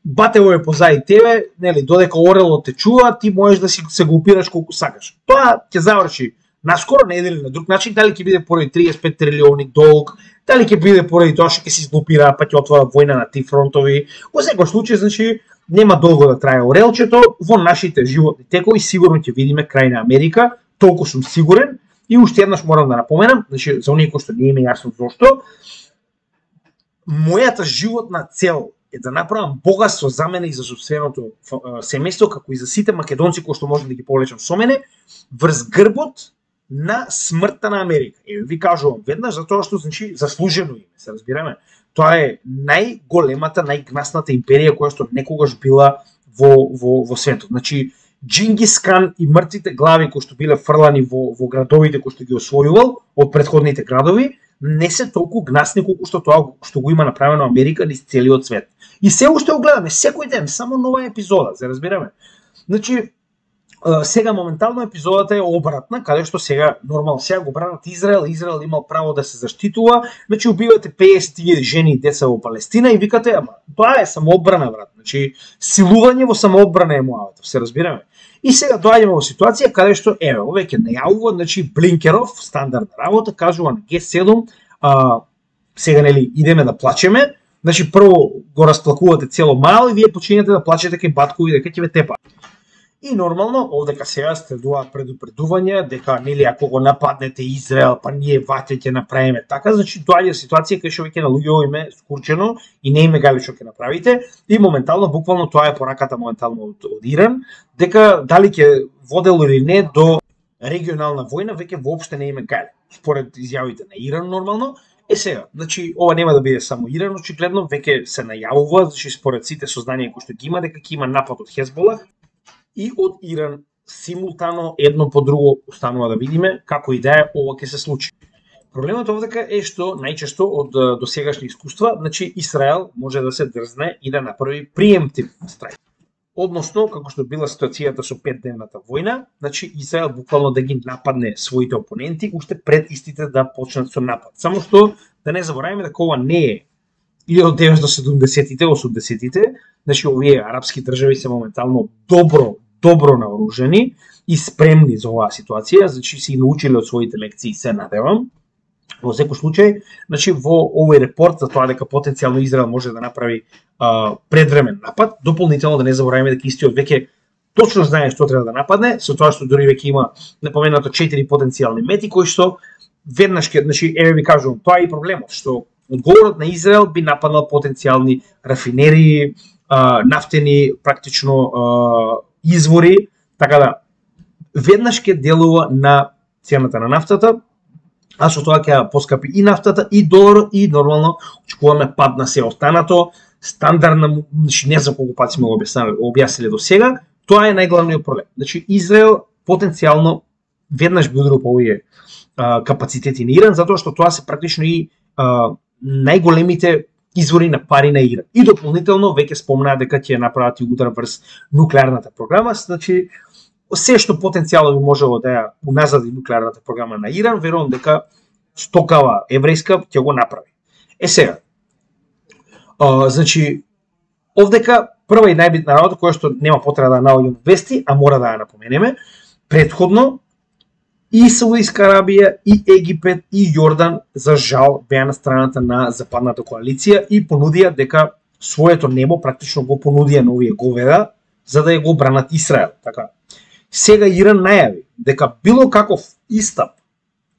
батево е позади тебе, нели, додека орелот те чува, ти можеш да се глупираш колку сакаш. Тоа ќе заврши наскоро, не или на друг начин, дали ќе биде поради 35 трилиони долг, дали ќе биде поради тоа што ќе се изглупира, па ќе отвора војна на ти фронтови. Во секој случај, значи, нема долго да трае орелчето, во нашите животни текови сигурно ќе видиме крај на Америка, толку сум сигурен. И уште еднаш морам да напоменам, значи, за оние кои што не им е јасно зошто, мојата животна цел е да направам богатство за мене и за собственото семејство, како и за сите македонци кои што можам да ги повлечам со мене, врз грбот на смртта на Америка. И ви кажувам веднаш, затоа што, значи, заслужено име, се разбираме. Тоа е најголемата, најгнасната империја која што некогаш била во светот. Значи, Джингис Кан и мртвите глави кои што биле фрлани во градовите кои што ги освојувал од претходните градови, не се толку гнасни колку што тоа што го има направено Америка низ целиот свет. И се уште го гледаме секој ден, само нова епизода, се разбираме. Значи, сега моментално епизодата е обратна, каде што сега нормално сега го бранат Израел, Израел имал право да се заштитува, значи убивате 50.000 жени и деца во Палестина и викате, ама тоа е самоодбрана, брат. Значи, силување во самоодбрана е мојата, се разбираме. И сега доаѓаме во ситуација каде што веќе најавува, значи Блинкеров, стандардна работа, кажува на Г7, сега нели идеме да плачеме, значи прво го расплакувате цело мал и вие почињате да плачете кај баткови дека ќе ве тепа. И нормално, овдека сега следуваат предупредувања дека нели ако го нападнете Израел, па ние ваќе ќе направиме така, значи доаѓа ситуација кај што веќе на луѓето им е скурчено и не им е гајле што ќе направите и моментално буквално тоа е пораката моментално од Иран, дека дали ќе водело или не до регионална војна веќе воопште не им е гајле. Според изјавите на Иран нормално, сега, значи ова нема да биде само Иран, очигледно веќе се најавува, значи според сите сознанија кои што ги има дека ќе има напад од Хезболах и од Иран симултано едно по друго останува да видиме како и да е ова ќе се случи. Проблемот овдека е што најчесто од досегашни искуства, значи Израел може да се дрзне и да направи преемптив страйк. Односно, како што била ситуацијата со 5-дневната војна, значи Израел буквално да ги нападне своите опоненти уште пред истите да почнат со напад. Само што да не забораваме дека ова не е 1970-тите, 80-тите, значи овие арапски држави се моментално добро добро наоружени и спремни за оваа ситуација, значи си научиле од своите лекции, се надевам. Во секој случај, значи во овој репорт за тоа дека потенцијално Израел може да направи предвремен напад, дополнително да не забораваме дека истиот веќе точно знае што треба да нападне, со тоа што дури веќе има напоменато 4 потенцијални мети кои што веднаш ќе, значи еве ви кажувам, тоа е и проблемот што одговорот на Израел би нападнал потенцијални рафинерии, нафтени практично извори, така да веднаш ќе делува на цената на нафтата, а со тоа ќе поскапи и нафтата, и доларот, и нормално очекуваме пад на се останато, стандардна, значи не за колку пати сме го објасниле до сега, тоа е најглавниот проблем. Значи Израел потенцијално веднаш би ударил по овие капацитети на Иран, затоа што тоа се практично и најголемите извори на пари на Иран. И дополнително веќе спомнаа дека ќе направат и удар врз нуклеарната програма, значи се што потенцијално би можело да ја уназади нуклеарната програма на Иран, верувам дека стокава еврејска ќе го направи. Сега, значи, овдека прва и најбитна работа која што нема потреба да наоѓам вести, а мора да ја напоменеме, предходно и Саудиска Арабија, и Египет, и Јордан, за жал, беа на страната на западната коалиција и понудија дека своето небо практично го понудија на овие говеда за да ја го бранат Израел. Така. Сега Иран најави дека било каков истап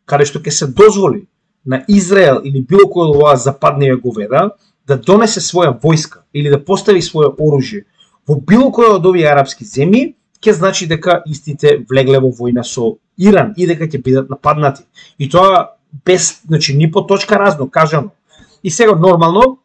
каде што ќе се дозволи на Израел или било кој од оваа западниве говеда да донесе своја војска или да постави свое оружје во било кој од овие арапски земји, ќе значи дека истите влегле во војна со Иран и дека ќе бидат нападнати. И тоа без, значи, ни по точка разно кажано. И сега нормално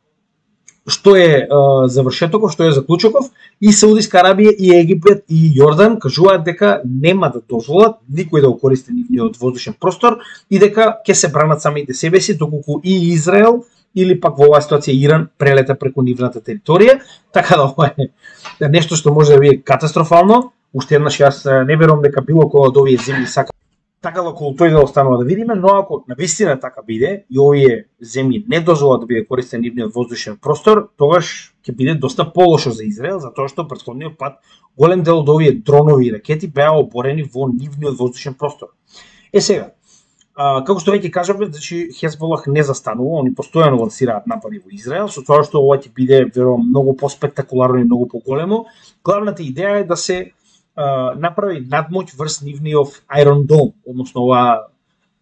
што е завршетоков, што е заклучоков, и Саудиска Арабија, и Египет, и Јордан кажуваат дека нема да дозволат никој да го користи нивниот воздушен простор и дека ќе се бранат самите себе си, доколку и Израел или пак во оваа ситуација Иран прелета преку нивната територија, така да ова е нешто што може да биде катастрофално. Уште еднаш јас не верувам дека било кој од овие земји сака така да околу тој да останува да видиме, но ако навистина така биде и овие земји не дозволат да биде користен нивниот воздушен простор, тогаш ќе биде доста полошо за Израел, затоа што претходниот пат голем дел од овие дронови и ракети беа оборени во нивниот воздушен простор. Сега, како што веќе кажавме, значи Хезболах не застанува, они постојано лансираат напади во Израел, со тоа што ова ќе биде верувам многу поспектакуларно и многу поголемо. Главната идеја е да се направи надмоќ врз нивниот Iron Dome, односно оваа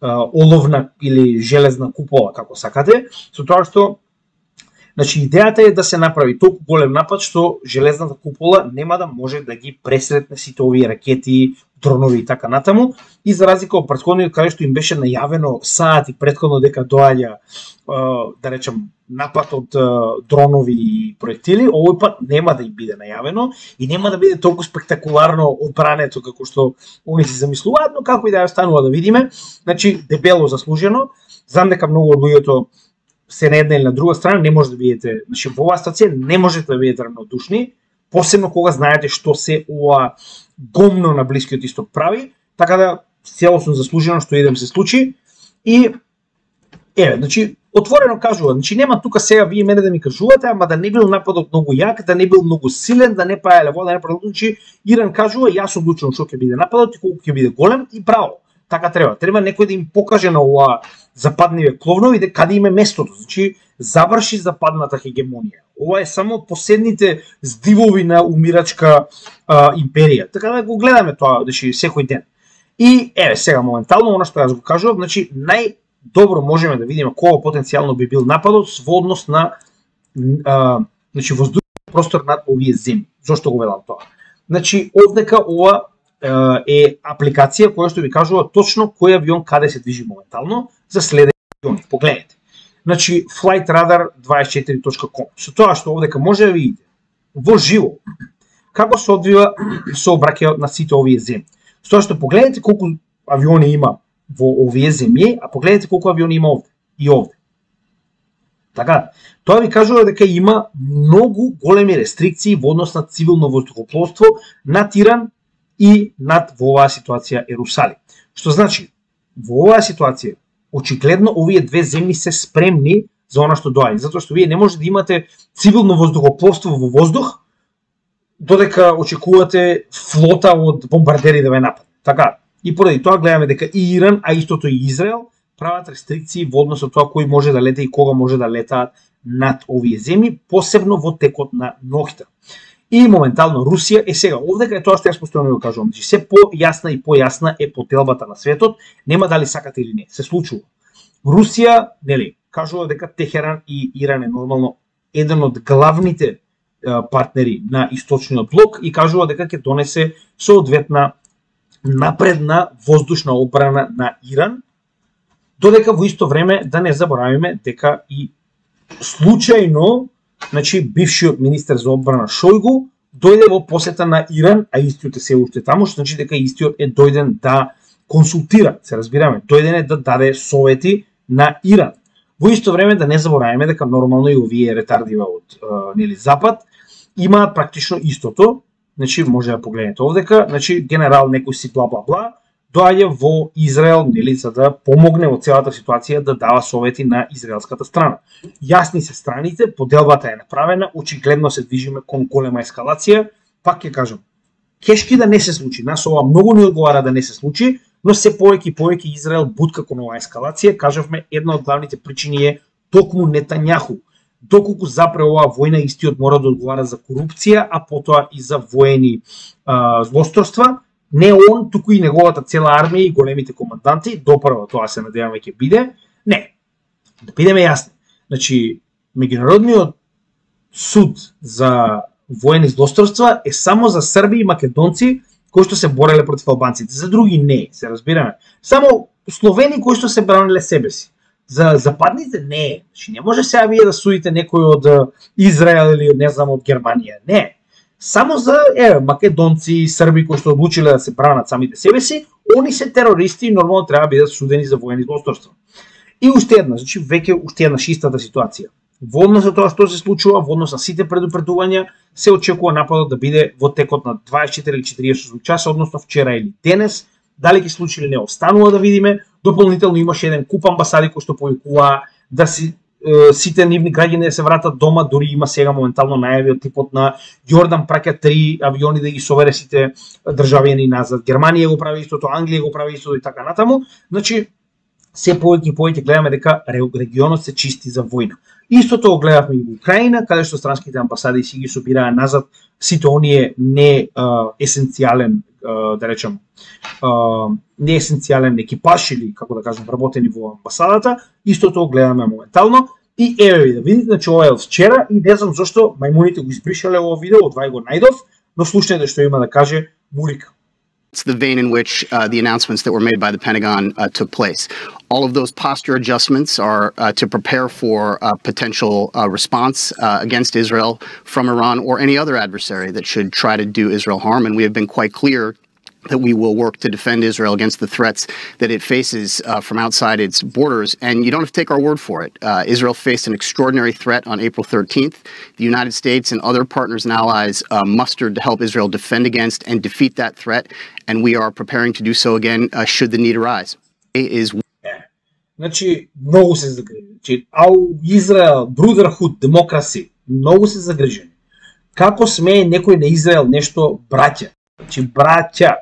оловна или железна купола, како сакате, со тоа што значи идејата е да се направи толку голем напад што железната купола нема да може да ги пресретне сите овие ракети, дронови и така натаму, и за разлика од претходниот каде што им беше најавено саати претходно дека доаѓа да речем напад од дронови и проектили, овој пат нема да им биде најавено и нема да биде толку спектакуларно одбрането како што они си замислуваат, но како и да ја останува да видиме, значи дебело заслужено. Знам дека многу од луѓето се на една или на друга страна, не може да бидете, значи во оваа ситуација не можете да бидете равнодушни, посебно кога знаете што се ова гомно на Блискиот Исток прави, така да целосно заслужено што идем се случи. И еве, значи отворено кажува, значи нема тука сега вие мене да ми кажувате, ама да не бил нападот многу јак, да не бил многу силен, да не паеле вода, да не правилно, значи Иран кажува, јас одлучувам што ќе биде нападот и колку ќе биде голем и право. Така треба. Треба некој да им покаже на ова западниве кловнови дека каде им е местото. Значи заврши западната хегемонија. Ова е само последните здивови на умирачка империја. Така да го гледаме тоа, значи секој ден. И еве сега моментално она што јас го кажувам, значи најдобро можеме да видиме кога потенцијално би бил нападот во однос на значи воздушен простор над овие земји. Зошто го велам тоа? Значи овдека ова е апликација која што ви кажува точно кој авион каде се движи моментално за следење авиони. Погледнете. Значи flightradar24.com. Со тоа што овдека може да видите во живо како се одвива сообраќајот на сите овие земји. Со тоа што погледнете колку авиони има во овие земји, а погледнете колку авиони има овде и овде. Така, тоа ви кажува дека има многу големи рестрикции во однос на цивилно воздухопловство над Иран и над во оваа ситуација Ерусалим. Што значи, во оваа ситуација, очигледно овие две земји се спремни за она што доаѓа, затоа што вие не може да имате цивилно воздухопловство во воздух додека очекувате флота од бомбардери да ве нападне. Така, и поради тоа гледаме дека и Иран, а истото и Израел прават рестрикции во однос од тоа кој може да лета и кога може да летаат над овие земји, посебно во текот на ноќта. И моментално Русија е сега овдека е тоа што јас постојано го кажувам, че се појасна и појасна е поделбата на светот, нема дали сакате или не, се случува. Русија, нели, кажува дека Техеран и Иран е нормално еден од главните партнери на источниот блок и кажува дека ќе донесе соодветна напредна воздушна одбрана на Иран, додека во исто време да не заборавиме дека и случајно, значи бившиот министер за одбрана Шојгу дојде во посета на Иран, а истиот е се уште таму, што значи дека истиот е дојден да консултира, се разбираме, дојден е да даде совети на Иран. Во исто време да не забораваме дека нормално и овие ретардива од нели Запад имаат практично истото, значи може да погледнете овдека, значи генерал некој си бла бла бла доаѓа во Израел, нели, за да помогне во целата ситуација да дава совети на израелската страна. Јасни се страните, поделбата е направена, очигледно се движиме кон голема ескалација, пак ќе кажам, кешки да не се случи, нас ова многу не одговара да не се случи, но се повеќе и повеќе Израел бутка кон оваа ескалација, кажавме, една од главните причини е токму Нетањаху. Доколку запре оваа војна, истиот мора да одговара за корупција, а потоа и за воени злосторства. Не он, туку и неговата цела армија и големите команданти, допрво тоа се надеваме ќе биде. Не, да бидеме јасни. Значи, меѓународниот суд за воени злосторства е само за срби и македонци кои што се бореле против албанците. За други не, се разбираме. Само словени кои што се бранеле себе си. За западните не. Значи, не може сега вие да судите некој од Израел или не знам од Германија. Не. Само за македонци и срби кои што одлучиле да се бранат самите себе си, они се терористи и нормално треба да бидат судени за воени злосторства. И уште една, значи веќе уште една шистата ситуација. Во однос на тоа што се случува, во однос на сите предупредувања, се очекува нападот да биде во текот на 24 или 48 часа, односно вчера или денес. Дали ќе случи или не, останува да видиме. Дополнително имаше еден куп амбасади кои што повикуваа да сите нивни граѓани да се вратат дома, дури има сега моментално најави од типот на Јордан праќа 3 авиони да ги совере сите државјани назад. Германија го прави истото, Англија го прави истото и така натаму. Значи, се повеќе и повеќе гледаме дека регионот се чисти за војна. Истото го гледавме и во Украина, каде што странските амбасади си ги собираа назад сите оние не есенцијален, да речем, не есенцијален екипаж или, како да кажем, работени во амбасадата. Истото го гледаме моментално. И еве ви да видите, значи ова е од вчера и не знам зошто мајмуните го избришале ово видео, од вај го најдов, но слушнете што има да каже Мурика. It's the vein in which the announcements that were made by the Pentagon took place. All of those posture adjustments are to prepare for a potential response against Israel from Iran or any other adversary that should try to do Israel harm. And we have been quite clear that we will work to defend Israel against the threats that it faces from outside its borders. And you don't have to take our word for it. Israel faced an extraordinary threat on April 13th. The United States and other partners and allies mustered to help Israel defend against and defeat that threat. And we are preparing to do so again should the need arise. Значи, многу се загрижени. Значи, Израел, Brotherhood, демокраси, многу се загрижени. Како смее некој на Израел нешто браќа? Значи, браќа.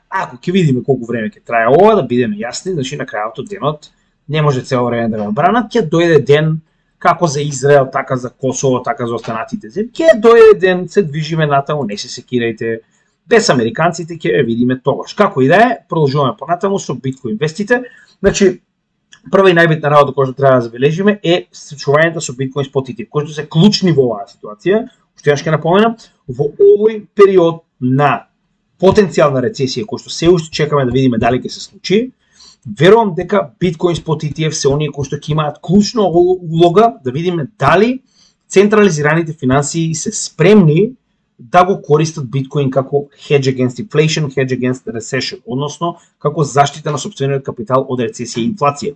Ако ќе видиме колку време ќе трае ова, да бидеме јасни, значи на крајот од денот не може цело време да ме бранат, ќе дојде ден како за Израел, така за Косово, така за останатите земји. Ќе дојде ден, се движиме натаму, не се секирајте. Без американците ќе видиме тогаш. Како и да е, продолжуваме понатаму со Bitcoin вестите. Значи, прва и најбитна работа која што треба да забележиме е случувањето со Bitcoin спотите, кои што се клучни во оваа ситуација. Уште јас ќе напоменам, во овој период на потенцијална рецесија, кој што се уште чекаме да видиме дали ќе се случи, верувам дека Bitcoin спот ETF се оние кои што ќе имаат клучна улога да видиме дали централизираните финансии се спремни да го користат Bitcoin како hedge against inflation, hedge against recession, односно како заштита на сопствениот капитал од рецесија и инфлација.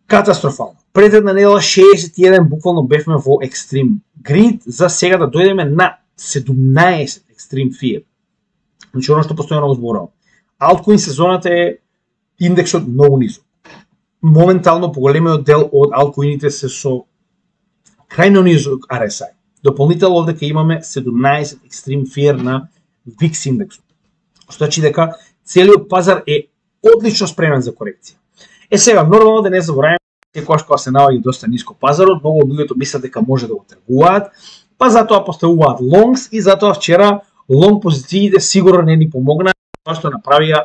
Катастрофално. Пред една недела 61 буквално бевме во Extreme Greed, за сега да дојдеме на 17 Extreme Fear. Значи, оно што постојано го зборувам. Altcoin сезоната е индексот многу низок. Моментално поголемиот дел од алткоините се со крајно низок RSI. Дополнително овдека имаме 17 екстрим фиер на VIX индексот. Што значи дека целиот пазар е одлично спремен за корекција. Сега, нормално да не забораваме, секогаш кога се наоѓа доста ниско пазарот, многу од луѓето мислат дека може да го тргуваат, па затоа поставуваат лонгс и затоа вчера лонг позициите сигурно не ни помогнаа, тоа што направија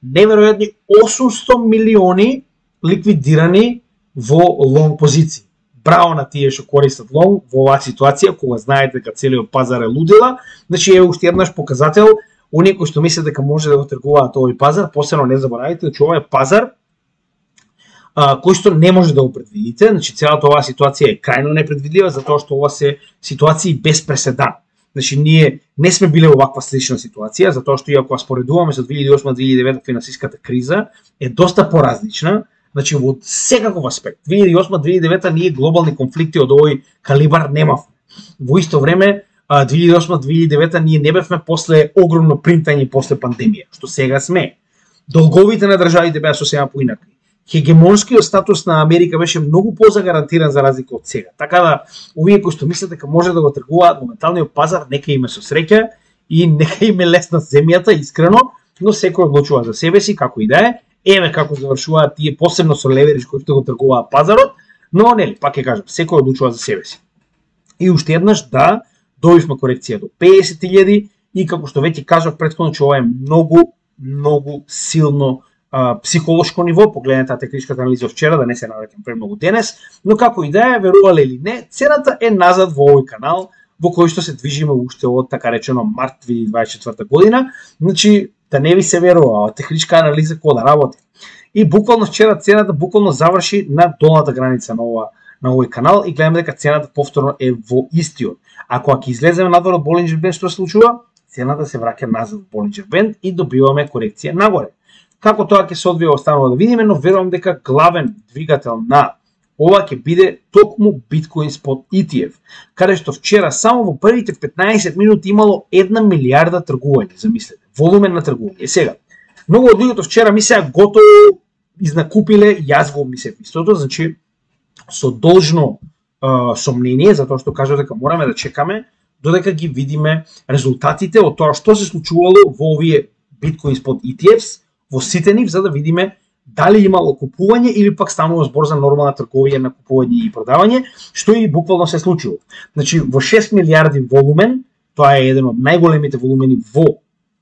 неверојатни 800 милиони ликвидирани во лонг позиции. Браво на тие што користат лонг во оваа ситуација, кога знаете дека целиот пазар е лудила. Значи е уште еднаш показател, оние кои што мислат дека може да го тргуваат овој пазар, посебно не заборавајте дека ова е пазар кој што не може да го предвидите. Значи целата оваа ситуација е крајно непредвидлива, затоа што ова се ситуации без преседан. Значи ние не сме биле во ваква слична ситуација, затоа што иако споредуваме со 2008-2009 финансиската криза е доста поразлична. Значи во секаков аспект. 2008-2009 ние глобални конфликти од овој калибар немавме. Во исто време 2008-2009 ние не бевме после огромно принтање после пандемија, што сега сме. Долговите на државите беа сосема поинакви. Хегемонскиот статус на Америка беше многу позагарантиран за разлика од сега. Така да, овие кои што мислат дека може да го тргуваат моменталниот пазар, нека име со среќа и нека име лесна земјата, искрено, но секој одлучува за себе си, како и да е. Еве како завршуваат тие, посебно со леверидж кои што го тргуваат пазарот, но нели, пак ќе кажам, секој одлучува за себе си. И уште еднаш да добивме корекција до 50.000 и како што веќе кажав претходно, че ова е многу силно психолошко ниво, погледнете техничката анализа вчера, да не се навраќам премногу денес, но како и да е, верувале или не, цената е назад во овој канал, во кој што се движиме уште од така речено март 2024 година, значи да не ви се верува, техничка анализа кој да работи. И буквално вчера цената буквално заврши на долната граница на овој канал и гледаме дека цената повторно е во истиот. Ако ќе излеземе надвор од Болинџер бенд, што се случува? Цената се враќа назад во Болинџер бенд и добиваме корекција нагоре. Како тоа ќе се одвие останува да видиме, но верувам дека главен двигател на ова ќе биде токму Bitcoin Spot ETF, каде што вчера само во првите 15 минути имало 1 милиарда тргување, замислете, волумен на тргување. Сега, многу од луѓето вчера мислеа готово изнакупиле, јас го мислев истото, значи со должно сомнение, затоа што кажа дека мораме да чекаме додека ги видиме резултатите од тоа што се случувало во овие Bitcoin Spot ETFs, во сите нив, за да видиме дали имало купување или пак станува збор за нормална трговија на купување и продавање, што и буквално се случило. Значи во 6 милиарди волумен, тоа е еден од најголемите волумени во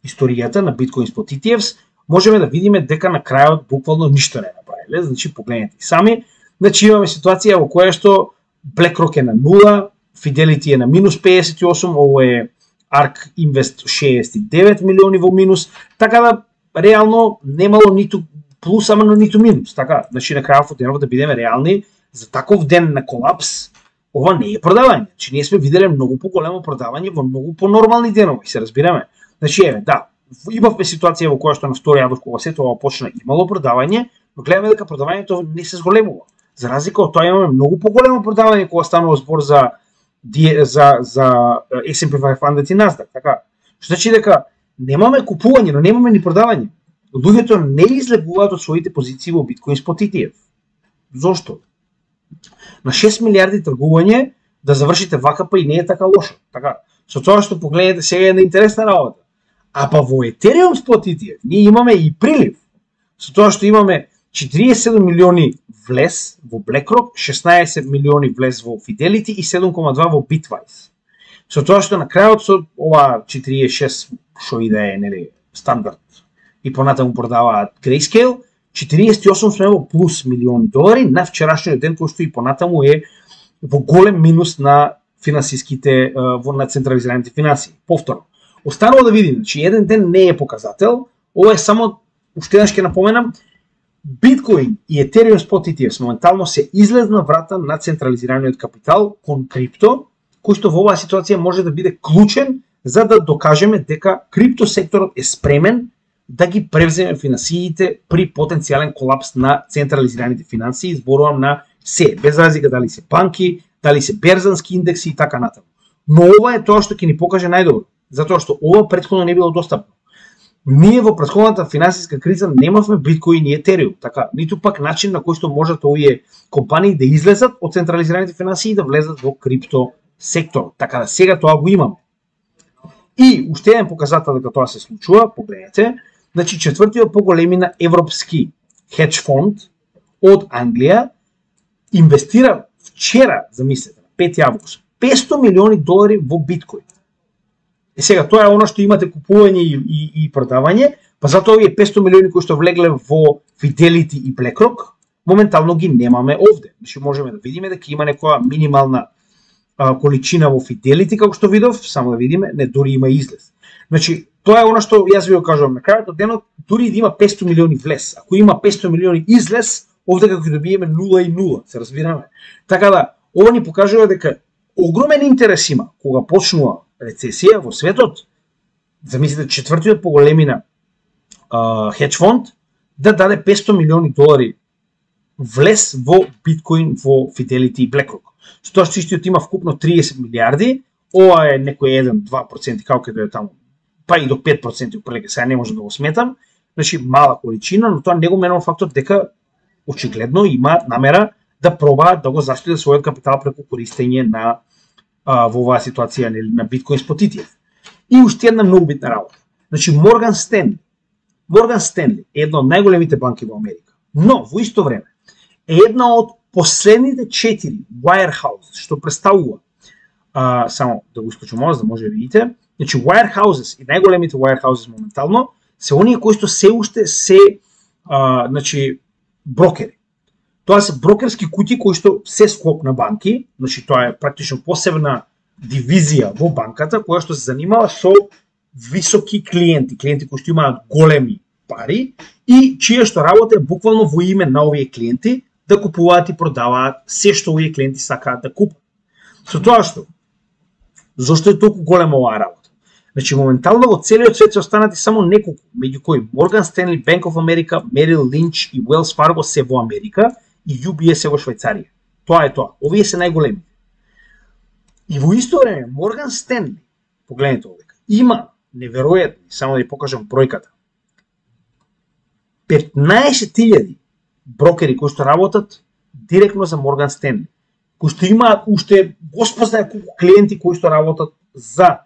историјата на Bitcoin Spot ETFs, можеме да видиме дека на крајот буквално ништо не направиле. Значи погледнете сами, значи имаме ситуација во која што BlackRock е на 0, Fidelity е на минус 58, ово е ARK Invest 69 милиони во минус, така да реално немало ниту плюс, ама ниту минус, така, значи на крајот од денот да бидеме реални, за таков ден на колапс, ова не е продавање. Значи ние сме виделе многу поголемо продавање во многу понормални денови, се разбираме. Значи еве, да, имавме ситуација во која што на втори август кога сето ова почна имало продавање, но гледаме дека продавањето не се зголемува. За разлика од тоа имаме многу поголемо продавање кога станува збор за S&P 500 и Nasdaq, така. Што значи дека немаме купување, но немаме ни продавање. Луѓето не излегуваат од своите позиции во Bitcoin Spot ETF. Зошто? На 6 милиарди тргување да завршите вакапа и не е така лошо. Така, со тоа што погледнете сега е на интересна работа. А па во Ethereum Spot ETF ние имаме и прилив. Со тоа што имаме 47 милиони влез во BlackRock, 16 милиони влез во Fidelity и 7,2 во Bitwise. Со тоа што на крајот со ова 46 што и да е, нели, стандард и понатаму продаваат Grayscale, 48 сме во плюс милиони долари на вчерашниот ден, кој што и понатаму е во голем минус на финансиските, на централизираните финансии. Повторно, останува да видим, значи еден ден не е показател, ова е само, уште еднаш ќе напоменам, Bitcoin и Ethereum Spot ETFs моментално се излезна врата на централизираниот капитал кон крипто, кој што во оваа ситуација може да биде клучен за да докажеме дека крипто секторот е спремен да ги превземе финансиите при потенцијален колапс на централизираните финансии, зборувам на се, без разлика дали се банки, дали се берзански индекси и така натаму. Но ова е тоа што ќе ни покаже најдобро, затоа што ова претходно не било достапно. Ние во претходната финансиска криза немавме биткоин и етериум, така, ниту пак начин на кој што можат овие компании да излезат од централизираните финансии и да влезат во крипто сектор. Така да сега тоа го имаме. И уште еден показател дека тоа се случува, погледнете, значи четвртиот поголемина европски хедж фонд од Англија инвестира вчера, замислете, 5 август, $500 милиони во биткоин. Сега тоа е она што имате купување и продавање, па затоа овие 500 милиони кои што влегле во Fidelity и BlackRock, моментално ги немаме овде. Значи можеме да видиме дека има некоја минимална количина во Fidelity, како што видов, само да видиме, не, дури има излез. Значи, тоа е она што јас ви го кажувам на крајот од денот, дури да има 500 милиони влез, ако има 500 милиони излез, овде како ќе добиеме 0 и 0, се разбираме. Така да, ова ни покажува дека огромен интерес има кога почнува рецесија во светот, замислите четвртиот поголемина хедж фонд да даде $500 милиони влез во биткоин во Fidelity и BlackRock. Тоа што истиот има вкупно 30 милиарди, ова е некој 1-2%, како ќе дојде таму, па и до 5% упрелike, сега не можам да го сметам, значи мала количина, но тоа не го менува фактот дека очигледно има намера да пробаат да го заштитат својот капитал преку користење на во оваа ситуација на биткоин спот ETF. И уште една многу битна работа. Значи Морган Стенли е една од најголемите банки во Америка, но во исто време е една од последните 4 wirehouses што представува, само да го исклучам ова за да може да видите, значи wirehouses и најголемите wirehouses моментално се оние кои што се уште се значи брокери. Тоа се брокерски куќи кои што се склоп на банки, значи тоа е практично посебна дивизија во банката која што се занимава со високи клиенти кои што имаат големи пари и чија што работа е буквално во име на овие клиенти да купуваат и продаваат се што овие клиенти сакаат да купат. Со тоа што, зошто е толку голема оваа работа? Значи моментално во целиот свет се останати само неколку, меѓу кои Morgan Stanley, Bank of America, Merrill Lynch и Wells Fargo се во Америка и UBS е во Швајцарија. Тоа е тоа. Овие се најголеми. И во исто време Morgan Stanley, погледнете овде, има неверојатни, само да ви покажам бројката, 15.000 брокери кои што работат директно за Morgan Stanley, кои што имаат уште госпознае колку клиенти кои што работат за,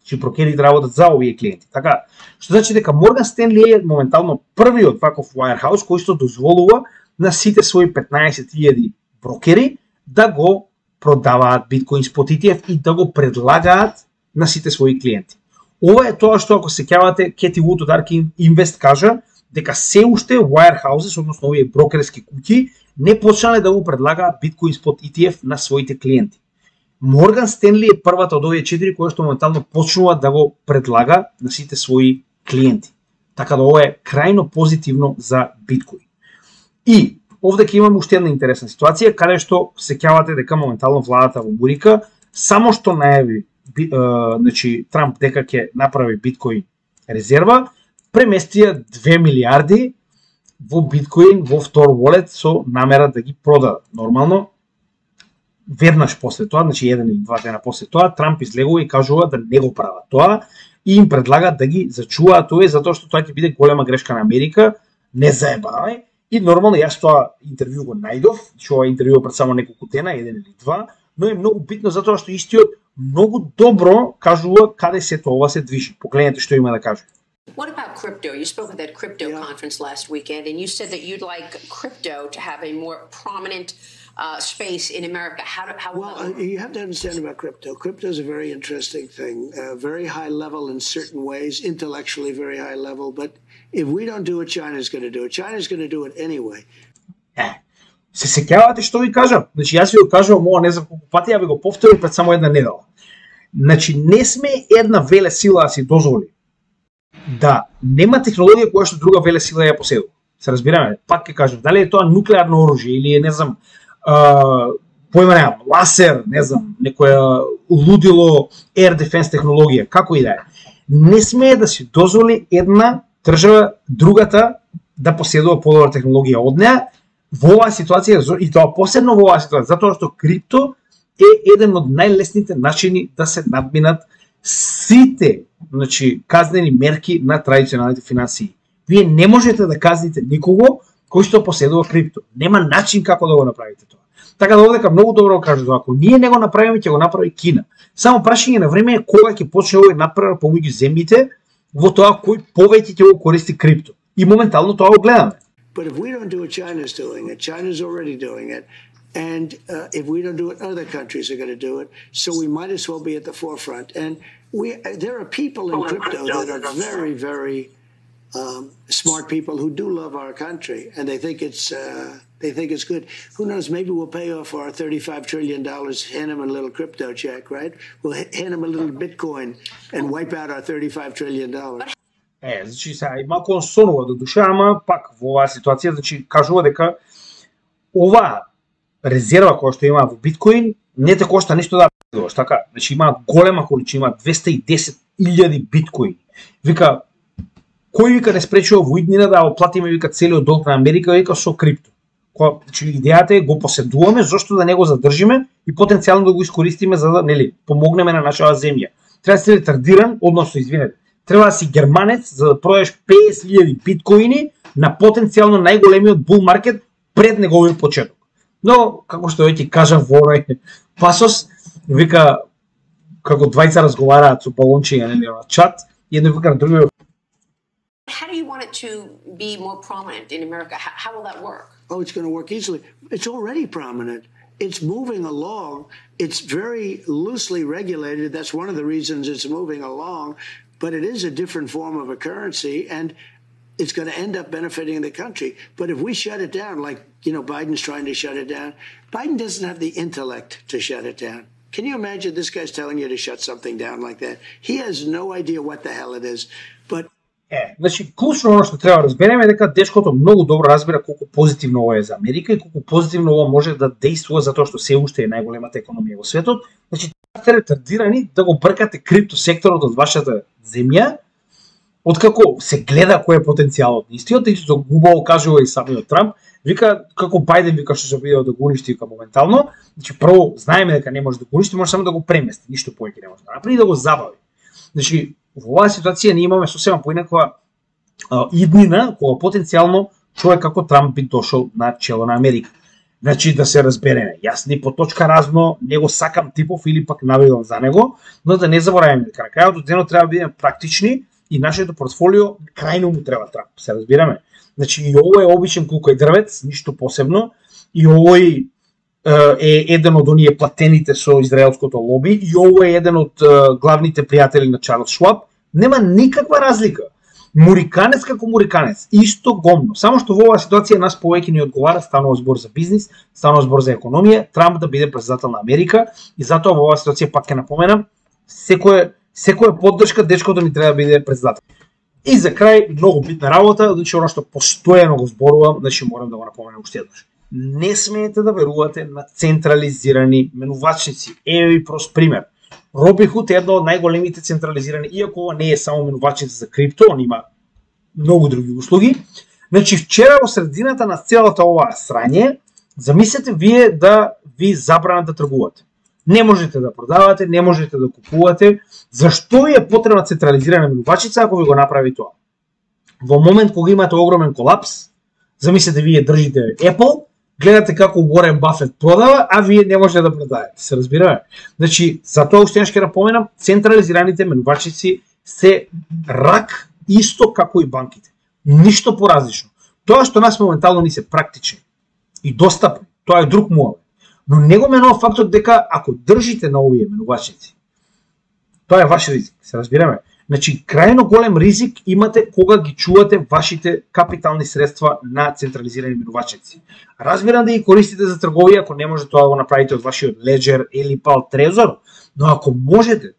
че брокерите работат за овие клиенти. Така, што значи дека Morgan Stanley е моментално првиот ваков wirehouse кој што дозволува на сите своји 15.000 брокери да го продаваат биткоин спот ETF и да го предлагаат на сите своји клиенти. Ова е тоа што ако сеќавате Кети Вуд од ARK Invest кажа дека се уште wirehouses, односно овие брокерски куќи, не почнале да го предлагаат биткоин спот ETF на своите клиенти. Morgan Stanley е првата од овие 4 која што моментално почнува да го предлага на сите своји клиенти. Така да ова е крајно позитивно за биткоин. И овде ќе имаме уште една интересна ситуација, каде што сеќавате дека моментално владата во Америка само што најави значи Трамп дека ќе направи биткоин резерва, преместија 2 милиарди во биткоин во Tor Wallet со намера да ги продадат. Нормално, веднаш после тоа, значи 1 или 2 дена после тоа, Трамп излегува и кажува да не го прават тоа и им предлагат да ги зачуваат тоа затоа што тоа ќе биде голема грешка на Америка, не заебавај. И нормално јас тоа интервју го најдов, што ова интервју пред само неколку дена, 1 или 2, но е многу битно затоа што истиот многу добро кажува каде се тоа се движи. Погледнете што има да каже. What about crypto? You spoke at that crypto conference last weekend, and you said that you'd like crypto to have a more prominent space in America. Well, you have to understand about crypto. Crypto is a very interesting thing, very high level in certain ways, intellectually very high level. But if we don't do it, China's going to do it. China's going to do it anyway. Се сеќавате што ви кажам? Значи јас ви го кажувам ова не знам колку пати, ја ви го повторив пред само една недела. Значи не сме една веле сила да си дозволи да нема технологија која што друга веле сила ја поседува. Се разбираме? Пак ќе кажам, дали е тоа нуклеарно оружје или е, не знам, појма немам, ласер, не знам, некоја лудило air defense технологија, како и да е. Не смее да си дозволи една држава другата да поседува подобра технологија од неа во оваа ситуација, и тоа посебно во оваа ситуација, затоа што крипто е еден од најлесните начини да се надминат сите, значи, казнени мерки на традиционалните финансии. Вие не можете да казните никого кој што поседува крипто. Нема начин како да го направите тоа. Така да овдека многу добро кажува, ако ние не го направиме, ќе го направи Кина. Само прашање на време е кога ќе почне овој напревар помеѓу земјите во тоа кој повеќе ќе го користи крипто. И моментално тоа го гледаме. But if we don't do it, China's doing it. China's already doing it. And if we don't do it, other countries are going to do it. So we might as well be at the forefront. And there are people in crypto that are very, very smart people who do love our country, and they think it's good. Who knows? Maybe we'll pay off our $35 trillion, hand them a little crypto check, right? We'll hand them a little Bitcoin and wipe out our $35 trillion. Значи сега и малку сонува до душа, ама пак во оваа ситуација, значи кажува дека оваа резерва која што има во биткоин не те кошта ништо да бидеш, така? Значи има голема количина, има 210.000 биткоини. Вика кој вика не спречува во иднина да оплатиме вика целиот долг на Америка вика со крипто. Значи идејата е го поседуваме, зошто да не го задржиме и потенцијално да го искористиме за да нели помогнеме на нашата земја. Треба да си ретардиран, односно извинете, треба да си германец за да продадеш 50.000 биткоини на потенцијално најголемиот бул маркет пред неговиот почеток. Но, како што ќе кажам во оној пасос, вика, како двајца разговараат со балончиња на чат, и едно вика на другиот. How do you want it to be more prominent in America? How will that work? Oh, it's going to work easily. It's already prominent. It's moving along. It's very loosely regulated. That's one of the reasons it's moving along. But it is a different form of a currency, and it's going to end up benefiting the country. But if we shut it down, like, Biden's trying to shut it down, Biden doesn't have the intellect to shut it down. Can you imagine this guy's telling you to shut something down like that? He has no idea what the hell it is. But значи, клучно оно што треба да разбереме е дека дечкото многу добро разбира колку позитивно ова е за Америка и колку позитивно ова може да действува затоа што се уште е најголемата економија во светот. Значи, сте ретардирани да го бркате крипто секторот од вашата земја, откако се гледа кој е потенцијалот истиот, и што убаво кажува и самиот Трамп, вика како Бајден вика што се обидел да го уништи вика моментално, значи прво знаеме дека не може да го уништи, може само да го премести, ништо повеќе не може да направи и да го забави. Значи, во оваа ситуација ние имаме сосема поинаква иднина кога потенцијално човек како Трамп би дошол на чело на Америка. Значи да се разбереме, јас ни по точка разно не го сакам типов или пак навидам за него, но да не забораваме дека на крајот од денот треба да бидеме практични и нашето портфолио крајно му треба Трамп, се разбираме. Значи и ово е обичен кукај дрвец, ништо посебно, и овој е еден од оние платените со израелското лоби, и ово е еден од главните пријатели на Чарлс Шваб. Нема никаква разлика. Муриканец како муриканец, исто гомно. Само што во оваа ситуација нас повеќе ни одговара, станува збор за бизнис, станува збор за економија, Трамп да биде председател на Америка, и затоа во оваа ситуација пак ќе напоменам, секоја поддршка дечкото ни треба да биде председател. И за крај, многу битна работа, значи оно што постојано го зборувам, значи морам да го напоменам уште еднаш. Не смеете да верувате на централизирани менувачници. Еве ви прост пример. Robinhood е една од најголемите централизирани, иако ова не е само менувачница за крипто, он има многу други услуги. Значи вчера во средината на целата оваа срање, замислете вие да ви забранат да тргувате. Не можете да продавате, не можете да купувате. Зашто ви е потребна централизирана менувачница ако ви го направи тоа? Во момент кога имате огромен колапс, замислете вие држите Apple, гледате како Уорен Бафет продава, а вие не можете да продавате. Се разбираме? Значи, затоа уште ќе напоменам, централизираните менувачници се рак исто како и банките. Ништо поразлично. Тоа што нас моментално ни се практични и достапни, тоа е друг муаве. Но не го менува фактот дека ако држите на овие менувачници, тоа е ваш ризик, се разбираме. Значи, крајно голем ризик имате кога ги чувате вашите капитални средства на централизирани менувачници. Разбирам да ги користите за трговија, ако не може тоа да го направите од вашиот Ledger или па од Trezor, но ако можете,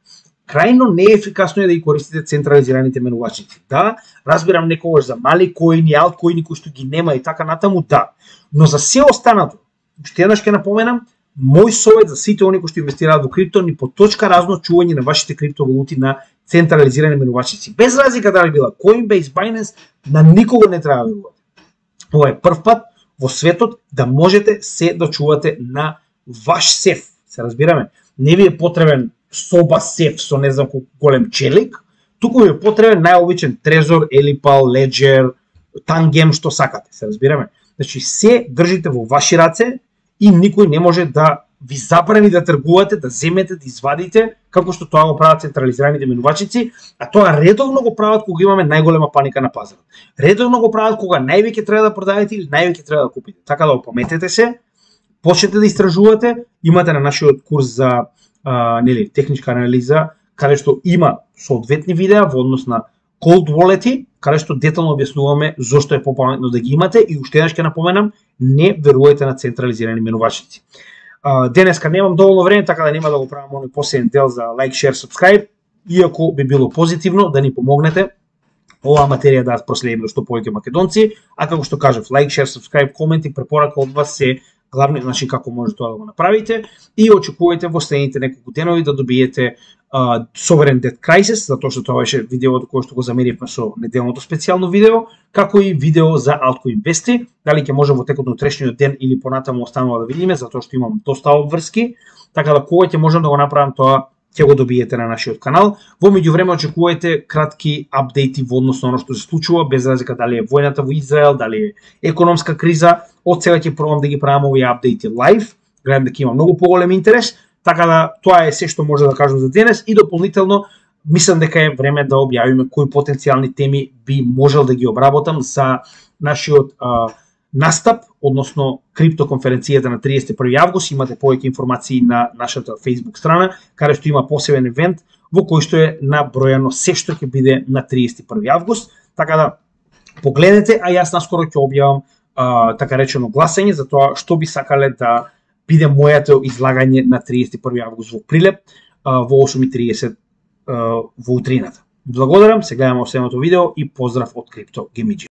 крајно неефикасно е да ги користите централизираните менувачници. Да, разбирам некогаш за мали коини, алткоини кои што ги нема и така натаму, да. Но за се останато, уште еднаш ќе напоменам, мој совет за сите они кои што инвестираат во крипто, ни по точка разно чување на вашите криптовалути на централизирани менувачници. Без разлика дали била Coinbase, Binance, на никого не треба да верувате. Ова е прв пат во светот да можете се да чувате на ваш сеф. Се разбираме? Не ви е потребен соба сеф со не знам колку голем челик, туку ви е потребен најобичен Trezor, Elipal, Ledger, Tangem, што сакате. Се разбираме? Значи се држите во ваши раце и никој не може да ви забрани да тргувате, да земете, да извадите, како што тоа го прават централизираните минувачици, а тоа редовно го прават кога имаме најголема паника на пазарот. Редовно го прават кога највеќе треба да продадете или највеќе треба да купите. Така да опаметете се, почнете да истражувате, имате на нашиот курс за техничка анализа, каде што има соодветни видеа во однос на cold wallet-и, каде што детално објаснуваме зошто е попаметно да ги имате и уште еднаш ќе напоменам, не верувајте на централизирани менувачици. Денеска немам доволно време, така да нема да го правам оној посебен дел за like, share, subscribe, иако би било позитивно да ни помогнете оваа материја да проследиме до што повеќе македонци, а како што кажав, like, share, subscribe, коменти, препорака од вас се главни, значи како може тоа да го направите и очекувајте во следните неколку денови да добиете Sovereign Debt Crisis, затоа што тоа беше видеото кое што го замеривме со неделното специјално видео, како и видео за Altcoin Investi. Дали ќе може во текот на утрешниот ден или понатаму останува да видиме, затоа што имам доста обврски, така да кога ќе можам да го направам тоа, ќе го добиете на нашиот канал. Во меѓувреме очекувајте кратки апдејти во однос на оно што се случува, без разлика дали е војната во Израел, дали е економска криза. Од сега ќе пробам да ги правам овие апдејти лайв, гледам дека има многу поголем интерес. Така да тоа е се што може да кажам за денес и дополнително мислам дека е време да објавиме кои потенцијални теми би можел да ги обработам за нашиот настап, односно криптоконференцијата на 31 август. Имате повеќе информации на нашата Facebook страна, каде што има посебен евент во кој што е набројано се што ќе биде на 31 август. Така да погледнете, а јас наскоро ќе објавам така речено гласање за тоа што би сакале да биде моето излагање на 31 август во Прилеп во 8:30 во утрината. Благодарам, се гледаме во следното видео и поздрав од Crypto Gaming.